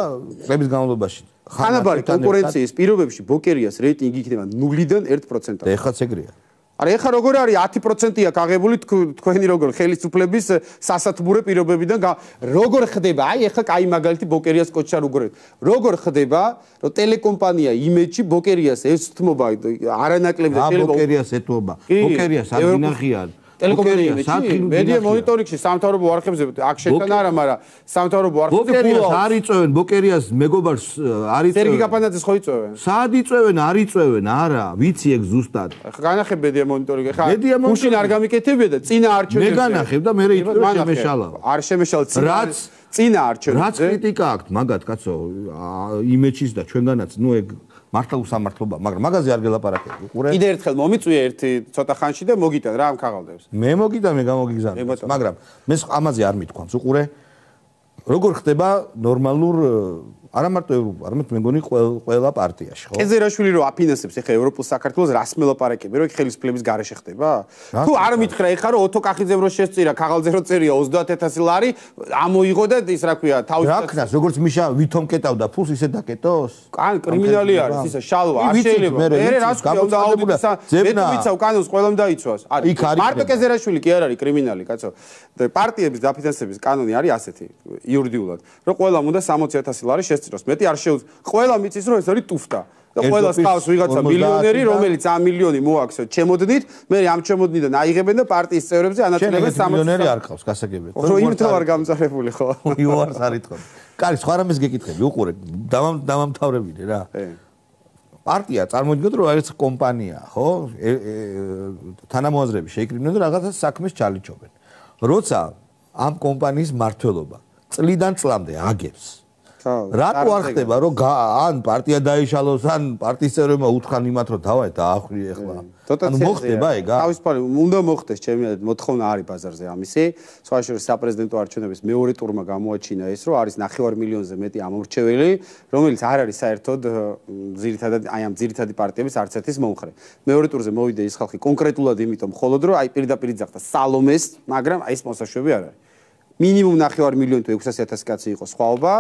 წლების განმავლობაში ხანაბარი კონკურენციის პირობებში ბოკერიას რეიტინგი იქნება ნულიდან ერთ პროცენტამდე ეხლაც ეგრეა არა ეხა როგორ არის ათი პროცენტია გაღებული თქვენი როგორ ხელისუფლების სასათბურე პირობებიდან როგორ ხდება აი ეხა კაი მაგალითი ბოკერიას კოჩა როგორ როგორ ხდება რომ ტელეკომპანია იმეჯი ბოკერიას ეთმობა არანაკლები შეიძლება ბოკერიას ეთმობა ბოკერიას აღინახიან ტელეკომპანიებში მედია მონიტორინგში სამთავრობო არხებზე აქ შეტან არა მაგრამ სამთავრობო არხებზე ბოკერიას არ იწევენ ბოკერიას მეგობარს არ იწევენ სერგი გაპანაძეს ხო იწევენ სად იწევენ არ იწევენ არა ვიცი ეგ ზუსტად ხა განახებ მედია მონიტორინგი ხა გუშინ არ გამიკეთებია და წინა არჩევნებზე მე განახებ და მე იწევენ შემეშალა არ შემეშალა რაც წინა არჩევნებზე რაც კრიტიკა აქვს მაგათ კაცო იმეჯის და ჩვენგანაც ნუ ეგ მართლა უსამართლობა, მაგრამ მაგაზე არ გელაპარაკები. უყურე. კიდე ერთხელ მომიწვია ერთი ცოტა ხანში და მოგიტან რა ამ ქაღალდებს. მე მოგიტან, მე გამოგიგზავნე. მაგრამ მე ამაზე არ მithქვამს. უყურე. როგორ ხდება ნორმალურ არა მარტო ევროპა, არამედ მე მგონი ყველა პარტიაში, ხო? კეზერაშვილი რო აფინანსებს ახლა ევროპულ საქართველოს რას მელაპარაკები, რომ ხელისუფლების გარეშე ხდება? თუ არ მითხრა ეხლა რომ ოთო კახიძემ რო შესწირა, ქაღალდზე რო წერია ოცდაათი ათასი ლარი, ამოიღო და ის რა ქვია, თავის რა ქნას, როგორც მიშა ვითომ კეტავდა ფულს ისე დაკეტოს? კან კრიმინალი არის, ისა შალვა, არ შეიძლება. მე რას ქვია, უნდა აუდიტისა. მე თუ ვიცავ კანონს ყველამ დაიცვას. არის. მარტო კეზერაშვილი კი არ არის კრიმინალი, კაცო. პარტიების დაფინანსების კანონი არის ასეთი, იურიდიულად, რომ ყველამ უნდა სამოცი ათასი ლარი შესწიროს. მეტი არ შეუძლია. ყველა მიწის რომ ეს არის ტუფტა. და ყველას ყავს ვიღაცა მილიონერი, რომელიც ამ მილიონი მოაქვს ჩემოდნით, მე ამ ჩემოდნიდან აიღებენ და პარტიის წევრებზე ანაწილებენ სამოცი მილიონერი არ ყავს, გასაგებია. ხო, იმითო არ გამწარებული ხო? იუარს არ იტყობ. კარი, სხვა რამეს გეკითხები, უყურე, დამამთავრებინე რა. პარტია წარმოიდგინოთ რომ არის კომპანია, ხო? თანამოაზრეები შეიკრიბნენ და რაღაცა საქმეს ჩალიჩობენ. როცა ამ კომპანიის მმართველობა წლიდან წლამდე აგებს რატო არ ხდება რომ ან პარტია დაიშალოს ან პარტიის წევრებმა უთხრან იმათ რომ დავაი დაახვიე ახლა ანუ მოხდება ეგ თავისუფალი უნდა მოხდეს ჩემი მოთხოვნა არის ბაზარზე ამისი სხვა შორის საპრეზიდენტო არჩევნების მეორე ტურმა გამოაჩინა ეს რომ არის ნახევარ მილიონზე მეტი ამორჩეველი რომელიც არ არის საერთოდ ძირითადად აი ამ ძირითადი პარტიების არც ერთის მომხრე მეორე ტურზე მოვიდა ის ხალხი კონკრეტულად იმიტომ მხოლოდ რომ აი პირდაპირ იძახდა სალომეს მაგრამ აი ეს მოსაშვები არ არის მინიმუმ ნახევარ მილიონი თუ ექვსასი ათასი კაცი იყო სხვაობა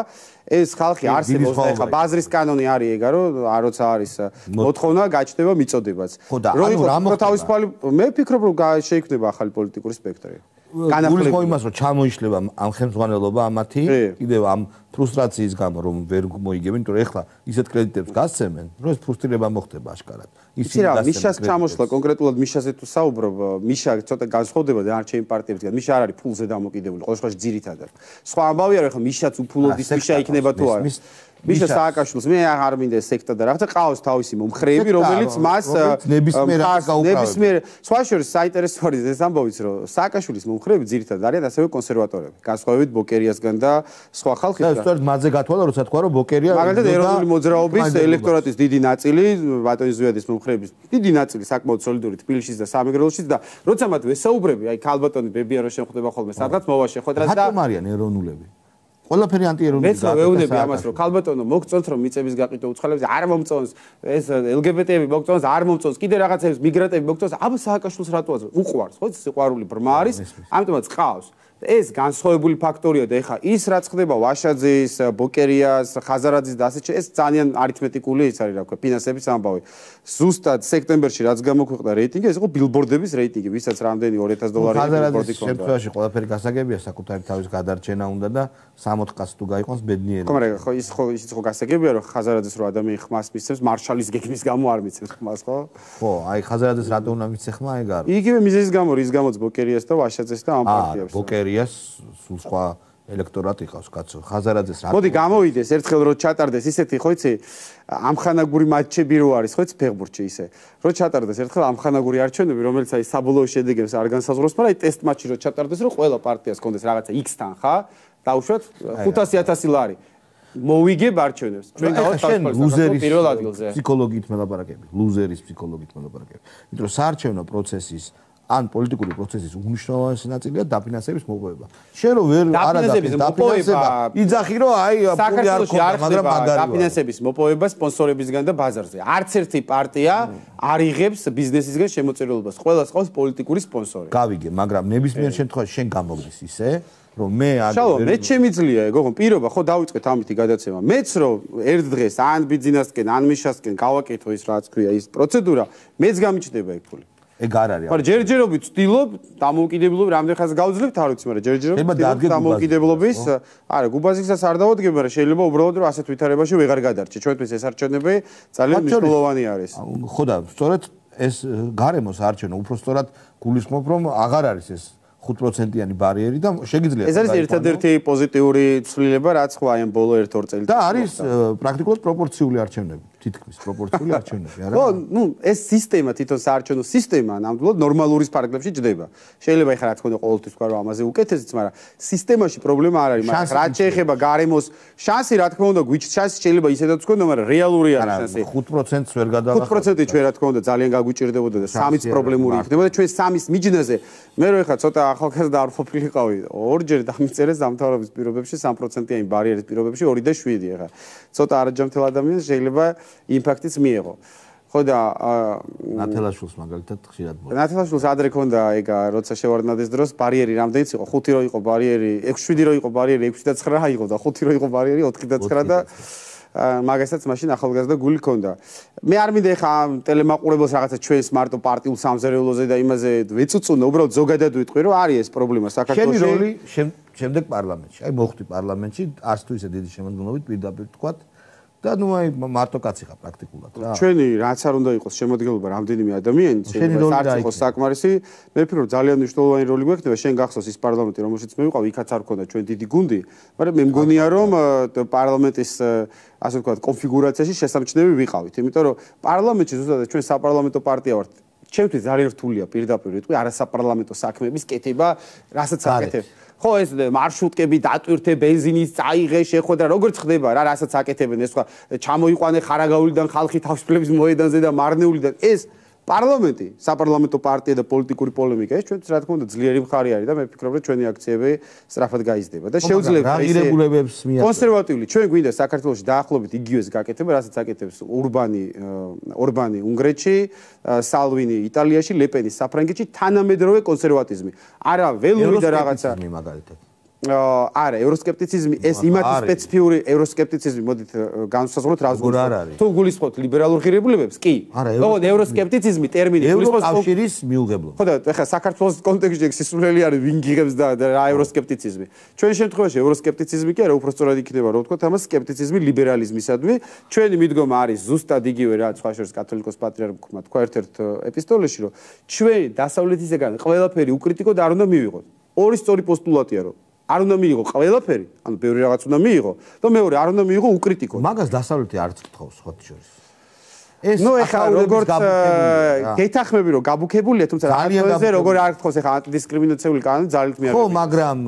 ეს ხალხი არსებობს და ეხა ბაზრის კანონი არის ეგა რომ როცა არის მოთხოვნა გაჩნდება მიწოდებაც რომ იყო თავისუფალი მე ვფიქრობ რომ შეიქმნება ახალი პოლიტიკური სპექტრი განახლება იმას რომ ჩამოიშლება ამ ხელმძღვანელობა ამათი კიდევ ამ ფრუსტრაციის გამო რომ ვერ მოიგებენ, იმიტომ რომ ეხლა ისეთ კრედიტებს გასცემენ, რომ ეს ფრუსტრირება მოხდება აშკარად. იცი რა, მიშას ჩამოსვლა კონკრეტულად მიშაზე თუ საუბრობ, მიშა ცოტა განსხვავდება დანარჩენი პარტიებისგან. მიშა არ არის ფულზე დამოკიდებული, ყოველ შემთხვევაში ძირითადად. სხვა ამბავია რომ ეხლა მიშაც უფულოდის მიშა იქნება თუ არა. მიშა სააკაშვილს მე არ მინდა ეს სექტა და რაღაცა ყავს თავისი მომხრეები, რომელიც მას ნებისმიერ ნებისმიერ სხვა შორის საინტერესო არის ეს ამბავიც რომ სააკაშვილის მომხრეები ძირითადად არიან ასევე კონსერვატორები. განსხვავებით ბოკერიასგან და სხვა ხალხისგან. და სწორედ მაგზე გათვალა, როცა თქვა რომ ბოკერია მაგალითად ეროვნული მოძრაობის ელექტორატის დიდი ნაწილი, ბატონი ზვიადის მომხრეების დიდი ნაწილი საკმაოდ სოლიდური თბილისშიც და სამეგრელოშიც და როცა მათ ვესაუბრები, აი ქალბატონი ბებია რო შეხვდება ხოლმე სადღაც მოვა შეხვედრას და რატომ არიან ეროვნულები? ყველაფერი ანტიეროვნული გაკეთება. მეც ვეუბნები ამას რომ ქალბატონო მოგწონთ რომ მიწების გაყიდვა უცხოელებს არ მომწონს, ეს ელგებეტები მოგწონს, არ მომწონს, კიდე რაღაცებს მიგრანტები მოგწონს, აბა სააკაშვილს რატო აზრ? უყვარს, ხო? სიყვარული ბრმა არის, ამიტომაც ყავს. ეს განსხვავებული ფაქტორია და ეხა ის რაც ხდება ვაშაძის, ბოკერიას, ხაზარაძის და ასე ეს ძალიან არითმეტიკული ის არის რა ვქო, ფინანსების ამბავი. ზუსტად სექტემბერში რაც გამოქვეყნდა რეიტინგი, ეს იყო ბილბორდების რეიტინგი, ვისაც რამდენი ორი ათას დოლარი ბილბორდი ქონდა. შემთხვევაში ყველაფერი გასაგებია, საკუთარი თავის გადარჩენა უნდა და სამოთხ კაცს თუ გაიყვანს ბედნიერი. ხო, მაგრამ ხო ის ხო ისიც ხო გასაგებია, რომ ხაზარაძეს რო ადამიანი ხმას მისცემს, მარშალის გეგმის გამო არ მისცემს ხმას, ხო? ხო, აი ხაზარაძეს რატო უნდა მისცე ხმა, ეგ არის. იგივე მიზეზის გამო, რის გამოც ბოკერიას და ვაშაძეს და ამ პარტიებს. ბოკერიას სულ სხვა ელექტორატი ყავს, კაცო. ხაზარაძეს რატო? მოდი გამოვიდეს ერთხელ რო ჩატარდეს ისეთი, ხო იცი, ამხანაგური მატჩები რო არის, ხო იცი, ფეხბურთში ისე. რო ჩატარდეს ერთხელ ამხანაგური არჩევნები, რომელიც აი საბოლოო შედეგებს არ განსაზღვროს, მაგრამ აი ტესტ მატჩი რო ჩატარდეს, რომ ყველა პარტიას კონდეს რაღაცა X-თან, ხა? დაუშვათ ხუთასი ათასი ლარი. მოვიგებ არჩევნებს. ჩვენ გავხსენებთ პირველ ადგილზე. ფსიქოლოგიით მელაპარაკები, ლუზერის ფსიქოლოგიით მელაპარაკები. იმიტომ რომ საარჩევნო პროცესის ან პოლიტიკური პროცესის უმნიშვნელოვანესი ნაწილია დაფინანსების მოპოვება. შენ რო ვერ არ დაფინანსება, იძახი რომ აი ფული არ ქონდა, მაგრამ მაგარი დაფინანსების მოპოვება სპონსორებისგან და ბაზარზე. არც ერთი პარტია არ იღებს ბიზნესისგან შემოწირულობას. ყველას ყავს პოლიტიკური სპონსორი. გავიგე, მაგრამ ნებისმიერ შემთხვევაში შენ გამოგდის ისე რომ მე აგ შალო მე შემიძლია ეგო ხო პირობა ხო დავიწყეთ ამითი გადაცემა მეც რომ ერთ დღეს ან ბიზნესკენ ან მიშასკენ გავაკეთო ის რაც ქვია ის პროცედურა მეც გამიჩნდება ეგ ფული ეგ არ არის მაგრამ ჯერჯერობით ვწtildeობ დამოუკიდებლობ რამდენ ხანს გავძლევთ არ ვიცი მაგრამ ჯერჯერობით დამოუკიდებლობის არა გუბაზიკსაც არ დავადგებ მაგრამ შეიძლება უბრალოდ რომ ასეთ ვითარებაში ვეღარ გადარჩე ჩვენთვის ეს არჩევნები ძალიან მნიშვნელოვანი არის ხო და სწორედ ეს გარემოს არჩევნო უფრო სწორად გულისხმობ რომ აღარ არის ეს ხუთ პროცენტიანი ბარიერი და შეგიძლიათ ეს არის ერთადერთი პოზიტიური ცვლილება რაც ხო აი ამ ბოლო ერთ ორ წელიწადში და არის პრაქტიკულად პროპორციული არჩევნები თითქმის პროპორციული არჩევნები არა ხო ნუ ეს სისტემა თვითონ საარჩევნო სისტემა ნამდვილად ნორმალურის პარაგრაფში ჯდება შეიძლება ეხლა რა თქმა უნდა ყოველთვის თქვა რომ ამაზე უკეთესიც მაგრამ სისტემაში პრობლემა არ არის მაგრამ რაც შეეხება გარემოს შანსი რა თქმა უნდა გვიჩ შანსი შეიძლება ისედაც თქვა მაგრამ რეალური არის შანსი ხუთ პროცენტს ვერ გადაღახავთ ხუთ პროცენტი ჩვენ რა თქმა უნდა ძალიან გაგვიჭირდებოდა და სამიც პრობლემური იქნება და ჩვენ სამის მიჯნაზე მე რო ეხლა ცოტა ახალგაზრდა არ ყოფილიყავი ორჯერ დამიწერეს დამთავრების პირობებში სამ პროცენტიანი ბარიერის პირობებში ორი და შვიდი ეხლა ცოტა არაჯამთელ ადამიანს შეიძლება იმპაქტიც მიეღო. ხო და ნათელაშვილს მაგალითად ხშირად მოხდა. ნათელაშვილს ადრე ქონდა ეგ როცა შევარდნადეს დროს ბარიერი რამდენიც იყო? ხუთი რო იყო ბარიერი, ექვსი შვიდი რო იყო ბარიერი, ექვსი და ცხრა იყო და ხუთი რო იყო ბარიერი, ოთხი და ცხრა და მაგასაც მაშინ ახალგაზრდა გული ქონდა. მე არ მინდა ეხა ტელემაყურებელს რაღაცა ჩვენს მარტო პარტიულ სამზარეულოზე და იმაზე ვეწუწუნო, უბრალოდ ზოგადად ვიტყვი რომ არის ეს პრობლემა საქართველოში. შენი როლი შემდეგ პარლამენტში. აი მოხვდი პარლამენტში, არც თუ ისე დიდი შემოქმედებით პირდაპირ თქვათ და ნუ აი მარტო კაცი ხარ პრაქტიკულად რა. ჩვენი რაც არ უნდა იყოს შემოდგენილობა რამდენიმე ადამიანი, შეიძლება არც იყოს საკმარისი, მე ვფიქრობ რომ ძალიან მნიშვნელოვანი როლი გვექნება, შენ გახსოვს ის პარლამენტი, რომელშიც მე ვიყავ, იქაც არ ქონდა ჩვენ დიდი გუნდი, მაგრამ მე მგონია რომ პარლამენტის ასე ვთქვათ, კონფიგურაციაში შესამჩნევი ვიყავით, იმიტომ რომ პარლამენტში ზუსტად ჩვენ საპარლამენტო პარტია ვართ. ჩემთვის ძალიან რთულია პირდაპირ ვიტყვი არასაპარლამენტო საქმეების კეთება, რასაც აკეთებ. ხო ეს მარშრუტკები დატვირთე ბენზინის წაიღე შეხვედრა როგორც ხდება რა რასაც აკეთებენ ეს სხვა ჩამოიყვანე ხარაგაულიდან ხალხი თავისუფლების მოედანზე და მარნეულიდან ეს პარლამენტი საპარლამენტო პარტია და პოლიტიკური პოლემიკა ეს ჩვენთვის რა თქმა უნდა ძლიერი მხარე არის და მე ვფიქრობ რომ ჩვენი აქციები სწრაფად გაიზრდება და შეუძლია რეგულირებებს მიაღწიოს კონსერვატიული ჩვენ გვინდა საქართველოში დაახლოებით იგივეს გაკეთება რასაც აკეთებს ურბანი ორბანი უნგრეთში სალვინი იტალიაში ლეპენი საფრანგეთში თანამედროვე კონსერვატიზმი არა ველური და რაღაცა არა, ევროსკეპტიციზმი ეს იმათი სპეციფიური ევროსკეპტიციზმი მოდით განსაზღვროთ რას გულისხმობთ. თუ გულისხმობთ ლიბერალურ ღირებულებებს, კი. ოღონდ ევროსკეპტიციზმი ტერმინი გულისხმობს კავშირის მიუღებლობას. ხო და ეხლა საქართველოს კონტექსტში სისულელი არის ვინ გიღებს და რა ევროსკეპტიციზმი. ჩვენ შემთხვევაში ევროსკეპტიციზმი კი არა, უფრო სწორად იქნება რომ ვთქვათ ამას სკეპტიციზმი ლიბერალიზმისადმი. ჩვენი მიდგომა არის ზუსტად იგივე რა სხვა შორის კათოლიკოს პატრიარქმა თქვა ერთ-ერთ ეპისტოლეში რომ ჩვენ დასავლეთისგან ყველაფერი უკრიტიკო და არ უნდა მივიღოთ. ორი სწორი პოსტულატია რომ არ უნდა მიიღო ყველაფერი, ანუ ბევრი რაღაც უნდა მიიღო და მეორე არ უნდა მიიღო უკრიტიკო. მაგას დასავლეთი არც გთხოვს ხოთი შორის. ეს ნუ ეხლა როგორც გეთახმები რომ გაბუქებულია, თუმცა რაღაცზე როგორ არ გთხოვს ეხლა ანტიდისკრიმინაციული კანონი ძალით მიაღწია. ხო, მაგრამ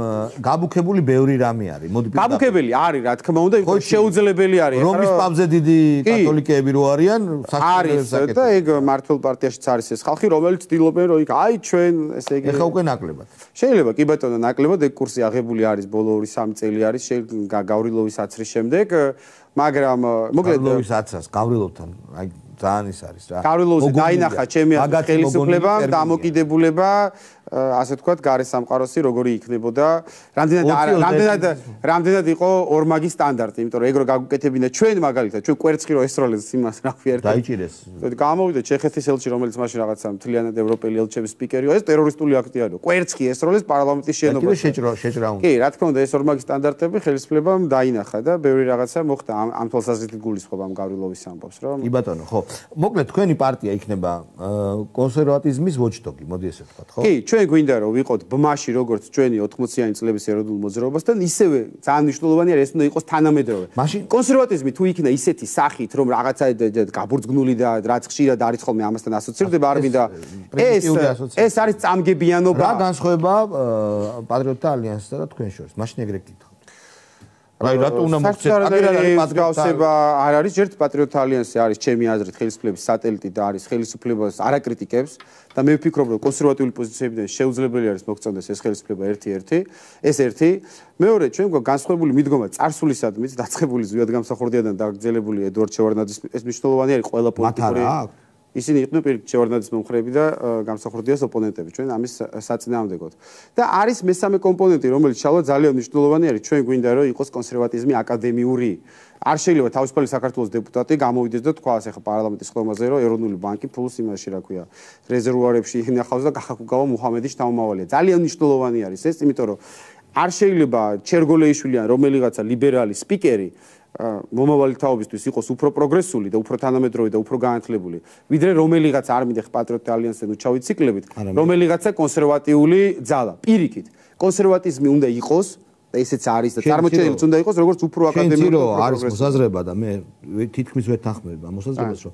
გაბუქებული ბევრი რამე არის. მოდი პირდაპირ. გაბუქებელი არის, რა თქმა უნდა, იმიტომ შეუძლებელი არის. რომის პაპზე დიდი კათოლიკეები რო არიან, არის და ეგ მართლ პარტიაშიც არის ეს ხალხი, რომელიც ცდილობენ რომ იქ აი ჩვენ ესე იგი ეხლა უკვე ნაკლებად. შეიძლება კი ბატონო ნაკლებად ეგ კურსი აღებული არის ბოლო ორი სამი წელი არის გავრილოვის აცრის შემდეგ, მაგრამ მოკლედ გავრილოვის აცრას გავრილოვთან აი ძალიან ის არის რა. გავრილოვზე დაინახა ჩემი ხელისუფლება, დამოკიდებულება, ასე ვთქვათ, გარე სამყაროსი როგორი იქნებოდა. რამდენად რამდენად რამდენად იყო ორმაგი სტანდარტი, იმიტომ რომ ეგ რო გაგუკეთებინა ჩვენ მაგალითად, ჩვენ კვერცხი რო ესროლეს იმას რა ქვია ერთ. დაიჭირეს. გამოვიდა ჩეხეთის ელჩი, რომელიც მაშინ რაღაცა მთლიანად ევროპელი ელჩების სპიკერიო, ეს ტერორისტული აქტი არის. კვერცხი ესროლეს პარლამენტის შენობაში. შეჭრა შეჭრა უნდა. კი, რა თქმა უნდა, ეს ორმაგი სტანდარტები ხელისუფლებამ დაინახა და ბევრი რაღაცა მოხდა ამ ამ თვალსაზრისით გულისხმობ ამ გავრილოვის ამბავს, რომ კი ბატონო, ხო. მოკლედ თქვენი პარტია იქნება კონსერვატიზმის ვოჩდოგი, მოდი ესე ვთქვათ, ხო? კი, ჩვენ გვინდა რომ ვიყოთ ბმაში როგორც ჩვენი ოთხმოციანი წლების ეროვნულ მოძრაობასთან, ისევე ძალიან მნიშვნელოვანი არის ეს უნდა იყოს თანამედროვე. კონსერვატიზმი თუ იქნა ისეთი სახით, რომ რაღაცა გაბურძგნული და რაც ხშირად არის ხოლმე ამასთან ასოცირდება, არ მინდა ეს ეს არის წამგებიანობა. რა განსხვავება პატრიოტთა ალიანსსა და თქვენ შორის? მაშინ ეგრე გითხავთ. აი რატო უნდა მოხდეს პატრიოტთა არ არის ჯერთ პატრიოტთა ალიანსი არის ჩემი აზრით ხელისუფლების სატელიტი და არის ხელისუფლებას არაკრიტიკებს და მე ვფიქრობ რომ კონსერვატიული პოზიციებიდან შეუძლებელი არის მოგწონდეს ეს ხელისუფლება ერთი-ერთი ეს ერთი მეორე ჩვენ გვაქვს განსხვავებული მიდგომა წარსულისადმი დაწყებული ზვიად გამსახურდიადან დაგრძელებული ედვარდ შევარდნაძის ეს მნიშვნელოვანი არის ყველა პოლიტიკური ისინი იყვნენ პირიქით შევარდნაძის მომხრეები და გამსახურდიას ოპონენტები ჩვენ ამის საწინააღმდეგოდ და არის მესამე კომპონენტი რომელიც შალვა ძალიან მნიშვნელოვანი არის ჩვენ გვინდა რომ იყოს კონსერვატიზმი აკადემიური არ შეიძლება თავისუფალი საქართველოს დეპუტატი გამოვიდეს და თქვას ახლა პარლამენტის ხდომაზე რომ ეროვნული ბანკი ფულს იმაში რა ქვია რეზერვუარებში ინახავს და გახაკუგავა მუჰამედის შთამომავალია ძალიან მნიშვნელოვანი არის ეს იმიტომ რომ არ შეიძლება ჩერგოლეიშვილი ან რომელიღაცა ლიბერალი სპიკერი მომავალი თაობისთვის იყოს უფრო პროგრესული და უფრო თანამედროვე და უფრო განათლებული ვიდრე რომელიღაც არ მინდა პატრიოტთა ალიანსთან უჩავი ციკლებით რომელიღაცა კონსერვატიული ძალა პირიქით კონსერვატიზმი უნდა იყოს და ესეც არის და წარმოჩენილიც უნდა იყოს როგორც უფრო აკადემიური არის მოსაზრება და მე თითქმის ვეთანხმები ამ მოსაზრებას რომ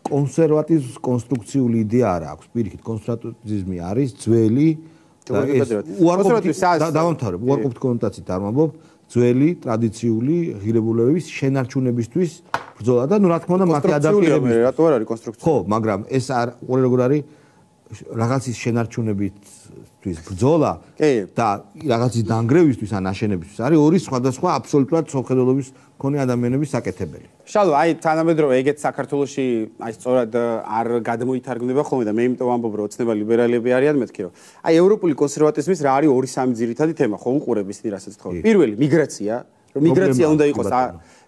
კონსერვატიზმის კონსტრუქციული იდეა არ აქვს პირიქით კონსერვატიზმი არის ძველი და უარყოფითი დავამთავრებ უარყოფითი კონოტაციით არ ვამბობ ძველი ტრადიციული ღირებულებების შენარჩუნებისთვის ბრძოლა და ნუ რა თქმა უნდა მათი ადაპტირების რატო არ არის კონსტრუქცია ხო მაგრამ ეს არ როგორ არის რაღაცის შენარჩუნებისთვის ბრძოლა და რაღაცის დანგრევისთვის ან აშენებისთვის არის ორი სხვადასხვა აბსოლუტურად სამხედროების მქონე ადამიანების საკეთებელი. შალვა, აი თანამედროვე ეგეთ საქართველოში აი სწორად არ გადმოითარგმნება ხოლმე და მე იმიტომ ვამბობ რომ ოცნება ლიბერალები არიან მეთქი რომ აი ევროპული კონსერვატიზმის რა არის ორი სამი ძირითადი თემა ხო უყურებ ისინი რასაც თქო. პირველი მიგრაცია, რომ მიგრაცია უნდა იყოს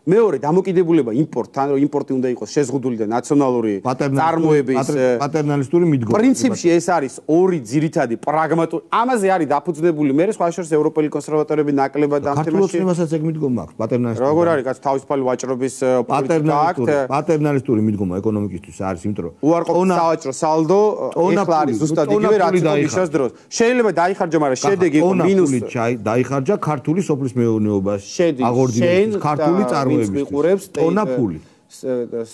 მეორე დამოკიდებულება იმპორტთან, რომ იმპორტი უნდა იყოს შეზღუდული და ნაციონალური წარმოების პატერნალისტური მიდგომა. პრინციპში ეს არის ორი ძირითადი პრაგმატული. ამაზე არის დაფუძნებული მე სხვა შორის ევროპელი კონსერვატორები ნაკლებად ამ თემაში. საქართველოსაც ეგ მიდგომა აქვს პატერნალისტური. როგორ არის კაც თავისუფალი ვაჭრობის პოლიტიკა აქვს? პატერნალისტური მიდგომა ეკონომიკისთვის არის, იმიტომ რომ უარყოფითი სავაჭრო სალდო ეხლა არის ზუსტად იგივე რაც იყო მისას დროს. შეიძლება დაიხარჯა, მაგრამ შედეგი იყო მინუსი. დაიხარჯა ქართული სოფლის მეურნეობაში. აღორძინების ქართული წარმოება მიყურებს ტონაფული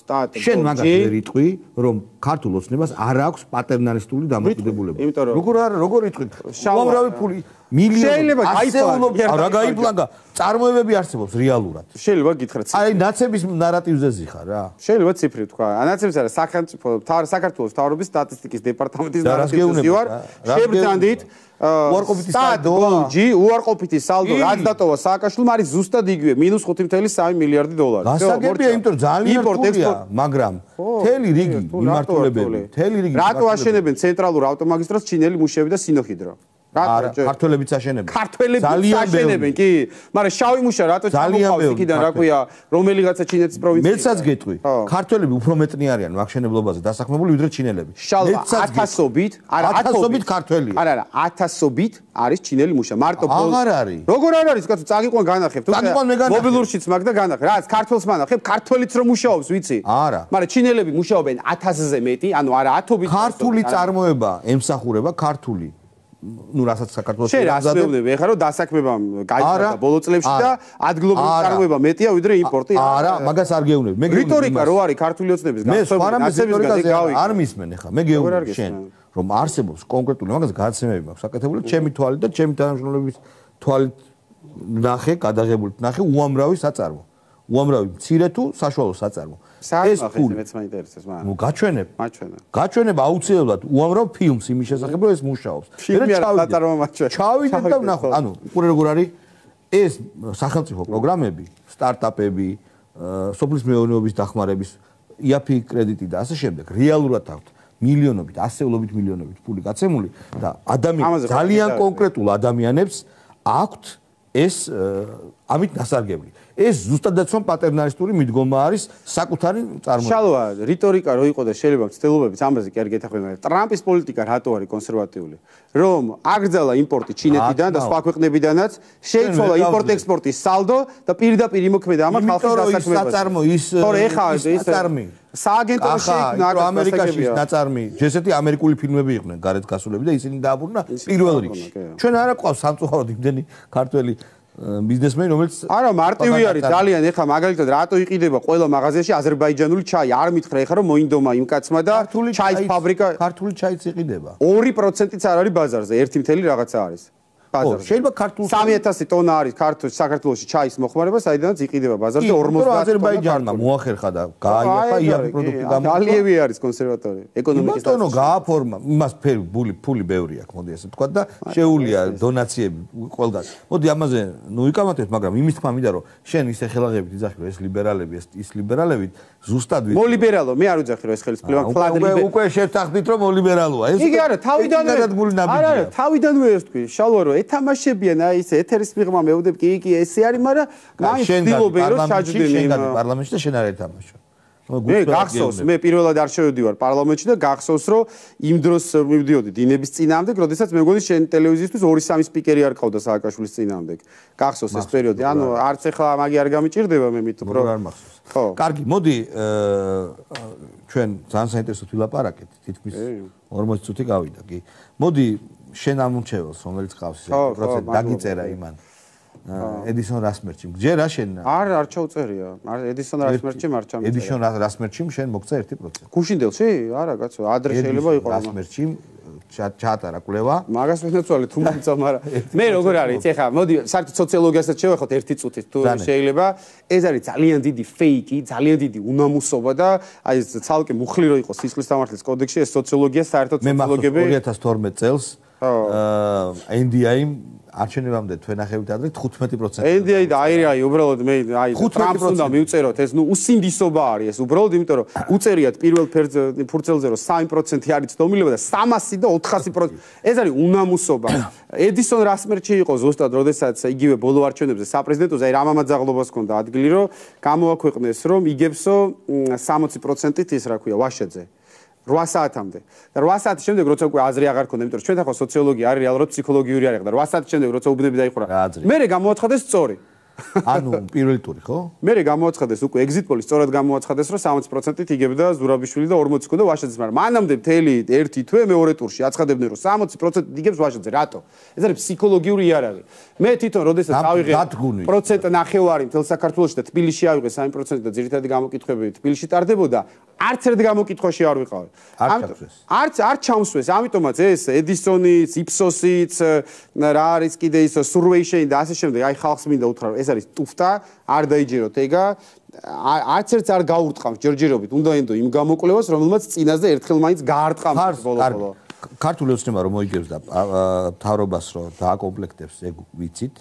სტატი შენ მაგას ვერ იტყვი რომ ქართულ ოცნებას არ აქვს პატერნალისტური დამოკიდებულება როგორ არ როგორ იტყვი უამრავი ფული მილიონი ასეულობ რა გაიპლანგა წარმოებები არსებობს რეალურად შეიძლება გითხრათ აი ნაცების ნარატივზე ზიხარ რა შეიძლება ციფრი თქვა ნაცებს არა სახელმწიფო საქართველოს მთავრობის სტატისტიკის დეპარტამენტის ნარატივზე ვარ შევძანდით უარყოფითი სალდო ჯი უარყოფითი სალდო რაც დატოვა სააკაშვილმა არის ზუსტად იგივე მინუს ხუთი ფاصლე სამი მილიარდი დოლარი გასაგებია იმიტომ რომ ძალიან რთულია მაგრამ მთელი რიგი მიმართულებები მთელი რიგი რატო აშენებენ ცენტრალურ ავტომაგისტრალს ჩინელი მუშები და სინოჰიდრო არა, ქართველებიც აშენებენ. ქართველებიც აშენებენ, კი, მაგრამ შავი მუშა რატო ჩამოყავს იქიდან, რა ქვია, რომელიღაცა ჩინეთის პროვინცია. მეცაც გეტყვი, ქართველები უფრო მეტნი არიან მახშენებლობაზე დასაქმებული ვიდრე ჩინელები. ათასობით, არა, ათასობით ქართველია. არა, არა, ათასობით არის ჩინელი მუშა. მარტო აღარ არის. როგორ არ არის, კაცო, წაგიყვან განახებ. თუ მობილურშიც მაგ და განახებ. რაც ქართველს მანახებ, ქართველიც რომ მუშაობს, ვიცი? არა. მაგრამ ჩინელები მუშაობენ ათასზე მეტი, ანუ არა ათობით. ქართული წარმოება ემსახურება ქართული ну რასაც საქართველოს შენ რას მეუბნები ეხლა რომ დასაქმებამ გაიჭრა ბოლო წლებში და ადგილობრივი წარმოება მეტია ვიდრე იმპორტი არა მაგას არ გეუბნები მე გეუბნები რიტორიკა რო არის ქართული ოცნების განსხვავებული არ მისმენ ეხლა მე გეუბნები შენ რომ არსებობს კონკრეტული მაგას გადაცემები მაქვს საკეთებული ჩემი თვალით და ჩემი თანამშრომლების თვალით ნახე გადაღებული ნახე უამრავი საწარმო უამრავი მცირე თუ საშუალო საწარმო ეს ფული მეც მაინტერესებს მაგრამ ნუ გაჩვენებ მაჩვენა გაჩვენებ აუცილებლად უამრავ ფილმს იმის შესახებ რომ ეს მუშაობს ჩავიდეთ და ვნახოთ ანუ უყურე როგორ არის ეს სახელმწიფო პროგრამები სტარტაპები სოფლის მეურნეობის დახმარების იაფი კრედიტი და ასე შემდეგ რეალურად აქვთ მილიონობით ასეულობით მილიონობით ფული გაცემული და ადამიანს ძალიან კონკრეტულ ადამიანებს აქვთ ეს ამით დასარგებლი ეს ზუსტადაც რომ პატერნალისტური მიდგომა არის საკუთარი წარმოება. შალვა, რიტორიკა რო იყო და შეიძლება ცდილობებიც ამაზე კი არ გეთახმება, მაგრამ ტრამპის პოლიტიკა რატო არის კონსერვატიული? რომ აგრძელა იმპორტი ჩინეთიდან და სხვა ქვეყნებიდანაც, შეიცვალა იმპორტ-ექსპორტის სალდო და პირდაპირ იმოქმედა ამ ხალხის დასაქმებაზე. საწარმო ის თორე ეხა ის საწარმი სააგენტო შეიქმნა ამერიკაში ნაწარმი, ესეთი ამერიკული ფილმები იყვნენ გარეთ გასულები და ისინი დააბრუნა პირველ რიგში. ჩვენ არა ყავს სამწუხაროდ იმდენი ქართველი ბიზნესმენი რომელიც არა მარტივი არის ძალიან ეხა მაგალითად რატო იყიდება ყველა მაღაზიაში აზერბაიჯანული ჩაი არ მითხრა ეხა რომ მოინდომა იმ კაცმა და ჩაის ფაბრიკა ქართული ჩაიც იყიდება ორი პროცენტიც არ არის ბაზარზე ერთი მთელი რაღაცა არის ბაზარზე შეიძლება ქართულ სამი ათასი ტონა არის ქართულ საქართველოში ჩაის მოხმარება საიდანაც იყიდება ბაზარზე ორმოცდაათი აზერბაიჯანმა მოახერხა და გააიაფა იაფი პროდუქტი გამო ალიევი არის კონსერვატორი ეკონომიკის დაწესება იმათონო გააფორმა იმას ფერი ფული ფული ბევრი აქვს მოდი ასე ვთქვა და შეუულია დონაციები ყველგან მოდი ამაზე ნუ იკამათებთ მაგრამ იმის თქმა მინდა რომ შენ ისე ხელაღებით იძახი რომ ეს ლიბერალები ის ლიბერალები ზუსტად ვიცი მოლიბერალო მე არ ვიძახი რომ ეს ხელისუფლება ფლად ლიბერალი უკვე შევთანხმდით რომ მოლიბერალოა ეს იგი არა თავიდანვე არა არა თავიდანვე ეს თქვი შალვა რომ ეთამაშებიან აი ეს ეთერის მიღმა მეუდებ კი კი ესე არის მაგრამ მაინც ცდილობენ რომ ჩაჯდენ შენ გადი პარლამენტში და შენ არ ეთამაშო მე გახსოვს მე პირველად არ შევედივარ პარლამენტში და გახსოვს რომ იმ დროს მივდიოდი დინების წინააღმდეგ როდესაც მე მგონი შენ ტელევიზიისთვის ორი სამი სპიკერი არ ყავდა სააკაშვილის წინააღმდეგ გახსოვს ეს პერიოდი ანუ არც ახლა მაგი არ გამიჭირდება მე მით რო არ მახსოვს ხო კარგი მოდი ჩვენ ძალიან საინტერესო ვილაპარაკეთ თითქმის ორმოცი წუთი გავიდა კი მოდი შენ ამურჩეველს რომელიც ყავს ეს პროცესი დაგიწერა იმან ედისონ რასმერჩი ჯერ რა შენ არ არ ჩაუწერია ედისონ რასმერჩი არ ჩამიწერა ედისონ რასმერჩი შენ მოგცა ერთი პროცენტი გუშინდელში არა კაცო ადრე შეიძლება იყოს რასმერჩი ჩაატარა კვლევა მაგას ვინაცვალე თუ მომცა მაგრამ მე როგორ არის ეხა მოდი საერთოდ სოციოლოგიასაც შევეხოთ ერთი წუთით თუ შეიძლება ეს არის ძალიან დიდი ფეიკი ძალიან დიდი უნამუსობა და აი ეს ცალკე მუხლი რო იყოს სისხლის სამართლის კოდექსში ეს სოციოლოგია საერთოდ სოციოლოგები ორი ათას თორმეტ წელს ენ დი აი-მ არჩევნებამდე თვენახევით ადრე თხუთმეტი პროცენტი. ენ დი აი და აი აი უბრალოდ მე აი ტრამპს უნდა მივწეროთ ეს ნუ უსინდისობა არის ეს უბრალოდ იმიტომ რომ უწერიათ პირველ ფურცელზე რომ სამი პროცენტი არის ცდომილება და სამასი და ოთხასი პროცენტი ეს არის უნამუსობა. ედისონ რასმერჩი იყო ზუსტად როდესაც იგივე ბოლო არჩევნებზე საპრეზიდენტოზე აი რამამაძაღლობას ჰქონდა ადგილი რომ გამოაქვეყნეს რომ იგებსო სამოცი პროცენტით ის რა ქვია ვაშეძე რვა საათამდე და რვა საათის შემდეგ როცა უკვე აზრი აღარ ქონდა, იმიტომ რომ ჩვენ ახლა სოციოლოგია არის რეალურად ფსიქოლოგიური არის და რვა საათის შემდეგ როცა უბნები დაიხურა. მერე გამოაცხადეს სწორი. ანუ პირველი ტური, ხო? მერე გამოაცხადეს უკვე exit poll-ი სწორად გამოაცხადეს, რომ სამოცი პროცენტით იგებდა ზურაბიშვილი და ორმოცი ქონდა ვაშაძეს, მაგრამ მანამდე მთელი ერთი თვე მეორე ტურში აცხადებდნენ, რომ სამოცი პროცენტით იგებს ვაშაძე. რატო? ეს არის ფსიქოლოგიური იარაღი. მე თვითონ როდესაც ავიღე პროცენტ ნახევარი მთელ საქართველოში და თბილისში ავიღე სამი პროცენტი და ძირითადი გამოკითხვები თბილისში ტარდებოდა, არც ერთ გამოკითხვაში არ ვიყავი. არც არ ჩამსვეს, ამიტომაც ეს ედისონიც, იფსოსიც, რა არის კიდე ის სურვეიშენი და ასე შემდეგ, აი ხალხს მინდა უთხრა, რომ ეს არის ტუფტა, არ დაიჯეროთ ეგა, არც ერთს არ გაურტყამს ჯერჯერობით, უნდა ენდო იმ გამოკვლევას, რომელმაც წინაზე ერთხელ მაინც გაარტყამს ბოლო-ბოლო. ქართული ოცნება რომ მოიგებს და მთავრობას რომ დააკომპლექტებს ეგ ვიცით.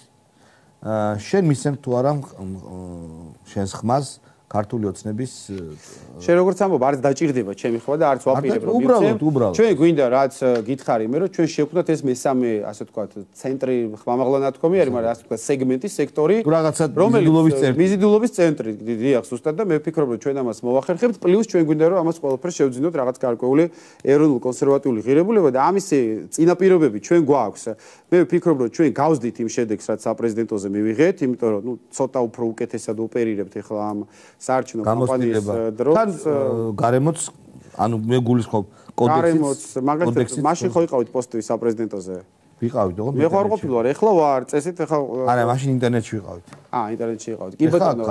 შენ მისცემ თუ არა შენს ხმას ქართული ოცნების შენ როგორც ამბობ, არც დაჭირდება ჩემი ხმა და არც ვაპირებ რომ მივცემ. ჩვენ გვინდა რაც გითხარი მე რომ ჩვენ შევქმნათ ეს მესამე, ასე ვთქვათ, ცენტრი ხმამაღლა ნათქვამი არის, მაგრამ ასე ვთქვათ, სეგმენტი, სექტორი, მიზიდულობის ცენტრი. მიზიდულობის ცენტრი, დიახ, ზუსტად და მე ვფიქრობ რომ ჩვენ ამას მოვახერხებთ, პლუს ჩვენ გვინდა რომ ამას ყველაფერს შევძინოთ რაღაც გარკვეული ეროვნულ კონსერვატიული ღირებულება და ამის წინაპირობები ჩვენ გვაქვს. მე ვფიქრობ რომ ჩვენ გავსდით იმ შედეგს, რაც საპრეზიდენტოზე მივიღეთ, იმიტომ რომ ნუ ცოტა უფრო უკეთესად ოპერირებთ ახლა ამ საარჩევნო კამპანიის დროს. თან გარემოც ანუ მე გულისხმობ კოდექსით. გარემოც მაგალითად მაშინ ხო იყავით პოსტები საპრეზიდენტოზე? ვიყავით, ოღონდ მე ხარ ყოფილი ვარ, ეხლა ვარ, წესით ეხლა არა, მაშინ ინტერნეტში ვიყავით. აა, ინტერნეტში ვიყავით. კი ბატონო.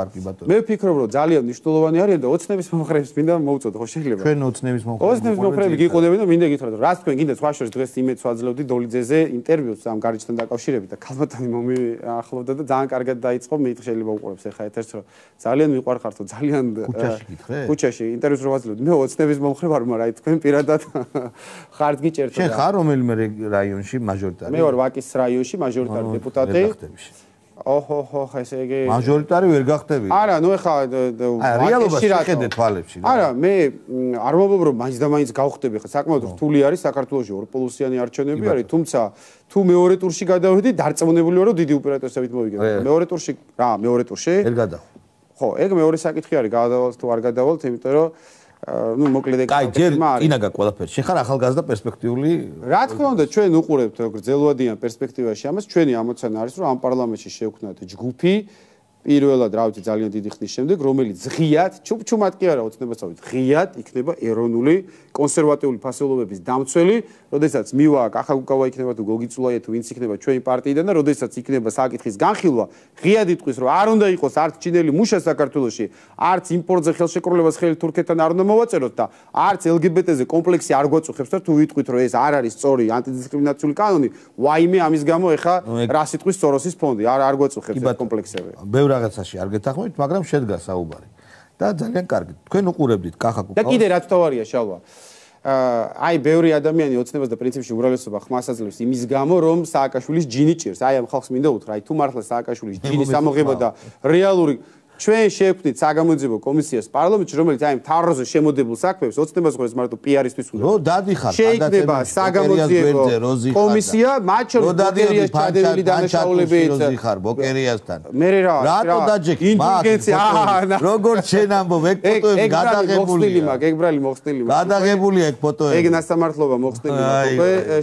მე ვფიქრობ, რომ ძალიან მნიშვნელოვანი არიან და ოცნების მომხრეებს მინდა მოვუწოდო, ხო შეიძლება? ჩვენ ოცნების მომხრეებს. ოცნების მომხრეები გიყოდებენ და მინდა გითხრათ, რომ რაც თქვენ გინდა სხვა შორის დღეს იმედს ვაძლევდი დოლიძეზე ინტერვიუს ამ გარიჯთან დაკავშირებით და ქალბატონი მომიახლოვდა და ძალიან კარგად დაიწყო, მე შეიძლება უყურებს ეხლა ეთერს, რომ ძალიან მიყვარხართ, ძალიან ქუჩაში გითხრე? ქუჩაში ინტერვიუს რო ვაძლევდი, მე ოცნების მომხრე ვარ, მაგრამ აი თქვენ პირადად ხართ გიჭერთ. შენ ხარ რომელიმე რაიონში მაჟორიტარი? მე ვარ ვაკის რაიონში მაჟორიტარი დეპუტატი. ოჰო ჰო, ესე იგი მაჟორიტარი ვერ გახდები? არა, ნუ ეხა რეალობაში შეხედე თვალებში. არა, მე არ მომბობ რომ მაინც და მაინც გავხდები, ხა საკმაოდ რთული არის საქართველოში ორპოლუსიანი არჩევნები არის, თუმცა თუ მეორე ტურში გადავედი, დარწმუნებული ვარ რომ დიდი უპირატესობით მოვიგებ. მეორე ტურში რა, მეორე ტურში? ვერ გადავა. ხო, ეგ მეორე საკითხი არის, გადავალთ თუ არ გადავალთ, იმიტომ რომ ну მოკლედ ეგ კაი, ჯერ ინა გაკ ყველაფერი. შენ ხარ ახალგაზრდა პერსპექტიული. რა თქმა უნდა, ჩვენ უყურებთ გრძელვადიან პერსპექტივაში ამას, ჩვენი ამოცანა არის, რომ ამ პარლამენტში შევქმნათ ჯგუფი, პირველად, რა ვიცი, ძალიან დიდი ხნის შემდეგ, რომელიც ღიად, ჩუბჩუმად კი არა, ოცნებასავით, ღიად იქნება ეროვნული კონსერვატიული ფასეულობების დამცველი, როდესაც მივა კახაკუკავა იქნება თუ გოგიწულაია თუ ვინც იქნება ჩვენი პარტიიდან და როდესაც იქნება საკითხის განხილვა, ღიად იტყვის, რომ არ უნდა იყოს არც ჩინელი მუშა საქართველოში, არც იმპორტზე ხელშეკრულებას ხელი თურქეთთან არ უნდა მოვაწეროთ და არც ელ გი ბე ტე-ზე კომპლექსი არ გვაწუხებს და თუ ვიტყვით, რომ ეს არ არის სწორი ანტიდისკრიმინაციული კანონი, ვაიმე ამის გამო ეხა რა სიტყვის სოროსის ფონდი, არ არ გვაწუხებს ეს კომპლექსები. რაღაცაში არ გეთახმებით, მაგრამ შედგა საუბარი. და ძალიან კარგი. თქვენ უყურებდით კახაკუკას. და კიდე რაც თავარია შალვა. აი, ბევრი ადამიანი ოცნებას და პრინციპში უმრავლესობა ხმას აძლევს იმის გამო, რომ სააკაშვილის ჯინი ჭირს. აი, ამ ხალხს მინდა უთხრა, აი, თუ მართლა სააკაშვილის ჯინის ამოღება და რეალური ჩვენ შევქმნით საგამოძიებო კომისიას პარლამენტში, რომელიც აი მთავრობაზე შემოდებულ საქმეებს ოცნებას ხოს მარტო პი არ-ისთვის უძღვნა. რო დადიხარ, შეიქმნება საგამოძიებო კომისია, მათ შორის ბოკერიას ჩადენილი დანაშაულებიც როზიხარ ბოკერიასთან. მე რა, რატო დაჯექი? ინტელიგენცია, როგორც შენ ამბობ, ეგ ფოტოები გადაღებულია. მაგ ეგ ბრალი მოხსნილი მაგ. გადაღებულია ეგ ფოტოები. ეგ ნასამართლობა მოხსნილი მაგ.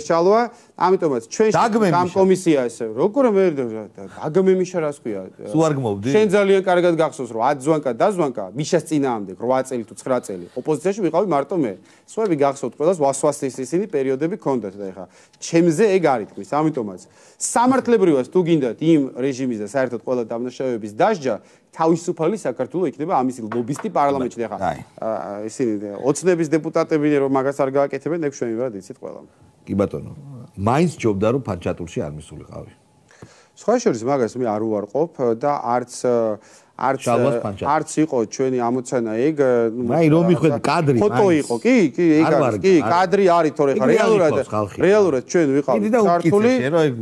შალვა, ამიტომაც ჩვენ ამ კომისია ესე. როგორ მე დაგმე მიშა რას ქვია? სულ არ გმოვდი? შენ ძალიან კარგად გახსოვს რომ ათ ზვანკა დაზვანკა მიშას წინააღმდეგ რვა წელი თუ ცხრა წელი ოპოზიციაში ვიყავი მარტო მე. სხვაები გახსოვთ ყველას ვასვასის ისინი პერიოდები ქონდათ და ეხა ჩემზე ეგ არ ითქმის. ამიტომაც სამართლებრივად თუ გინდათ იმ რეჟიმის და საერთოდ ყველა დამნაშავეების დასჯა თავისუფალი საქართველოს იქნება ამის ლობისტი პარლამენტში და ეხა ისინი ოცნების დეპუტატები რომ მაგას არ გააკეთებენ ეგ ჩვენივად იცით ყველა. კი ბატონო, მაინც ჯობდა რომ ფანჩატურში არ მისულიყავი. სხვა შორის მაგას მე არ უარყოფ და არც არც არც იყო ჩვენი ამოცანა ეგ აი რომ მიხვედი კადრი ფოტო იყო კი კი ეგ არის კი კადრი არის თორე ხა რეალურად რეალურად ჩვენ ვიყავით ქართული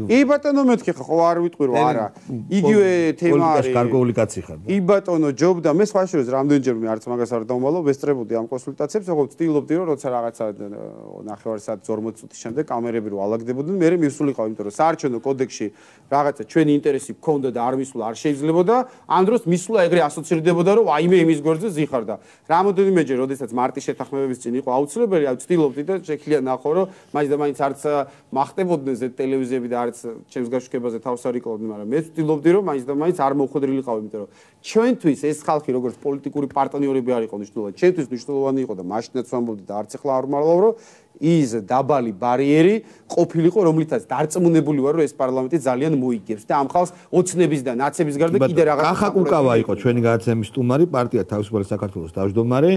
კი ბატონო მეთქი ხო არ ვიტყვი რომ არა იგივე თემა არის გარკვეული კაცი ხარ კი ბატონო ჯობდა მე სხვა შორის რამდენჯერ მე არც მაგას არ დავმალო ვესწრებოდი ამ კონსულტაციებს ხო ვცდილობდი რომ როცა რაღაცა ნახევარ საათი ორმოცი წუთის შემდეგ კამერები რო ალაგდებოდნენ მე მივსულიყავ იმიტომ რომ საარჩევნო კოდექსში რაღაცა ჩვენი ინტერესი გქონდა და არ მისულა არ შეიძლებოდა ამ დროს სულა ეგრე ასოცირდებოდა რომ აიმე იმის გვერდზე ზიხარდა. რამოდენიმეჯერ, როდესაც მარტის შეთანხმებების წინ იყო აუცილებელი, აი ვცდილობდი და შექლია ნახო, რომ მაინც და მაინც არც მახტებოდნენ ზეთ ტელევიზიები და არც ჩემს გაშუქებაზე თავს არ იკლავდნენ, მაგრამ მე ვცდილობდი რომ მაინც და მაინც არ მოხვედრილიყავ, იმიტომ რომ ჩვენთვის ეს ხალხი როგორც პოლიტიკური პარტნიორები არ იყო მნიშვნელოვანი, ჩვენთვის მნიშვნელოვანი იყო და მაშინაც ვამბობდი და არც ახლა არ მალავ რომ ის დაბალი ბარიერი ყოფილიყო, რომლითაც დარწმუნებული ვარ, რომ ეს პარლამენტი ძალიან მოიგებს და ამ ხალხს ოცნების და ნაცების გარდა კიდე რაღაც კახაკუკავა იყო ჩვენი გადაცემის სტუმარი, პარტია თავისუფალი საქართველოს თავმჯდომარე.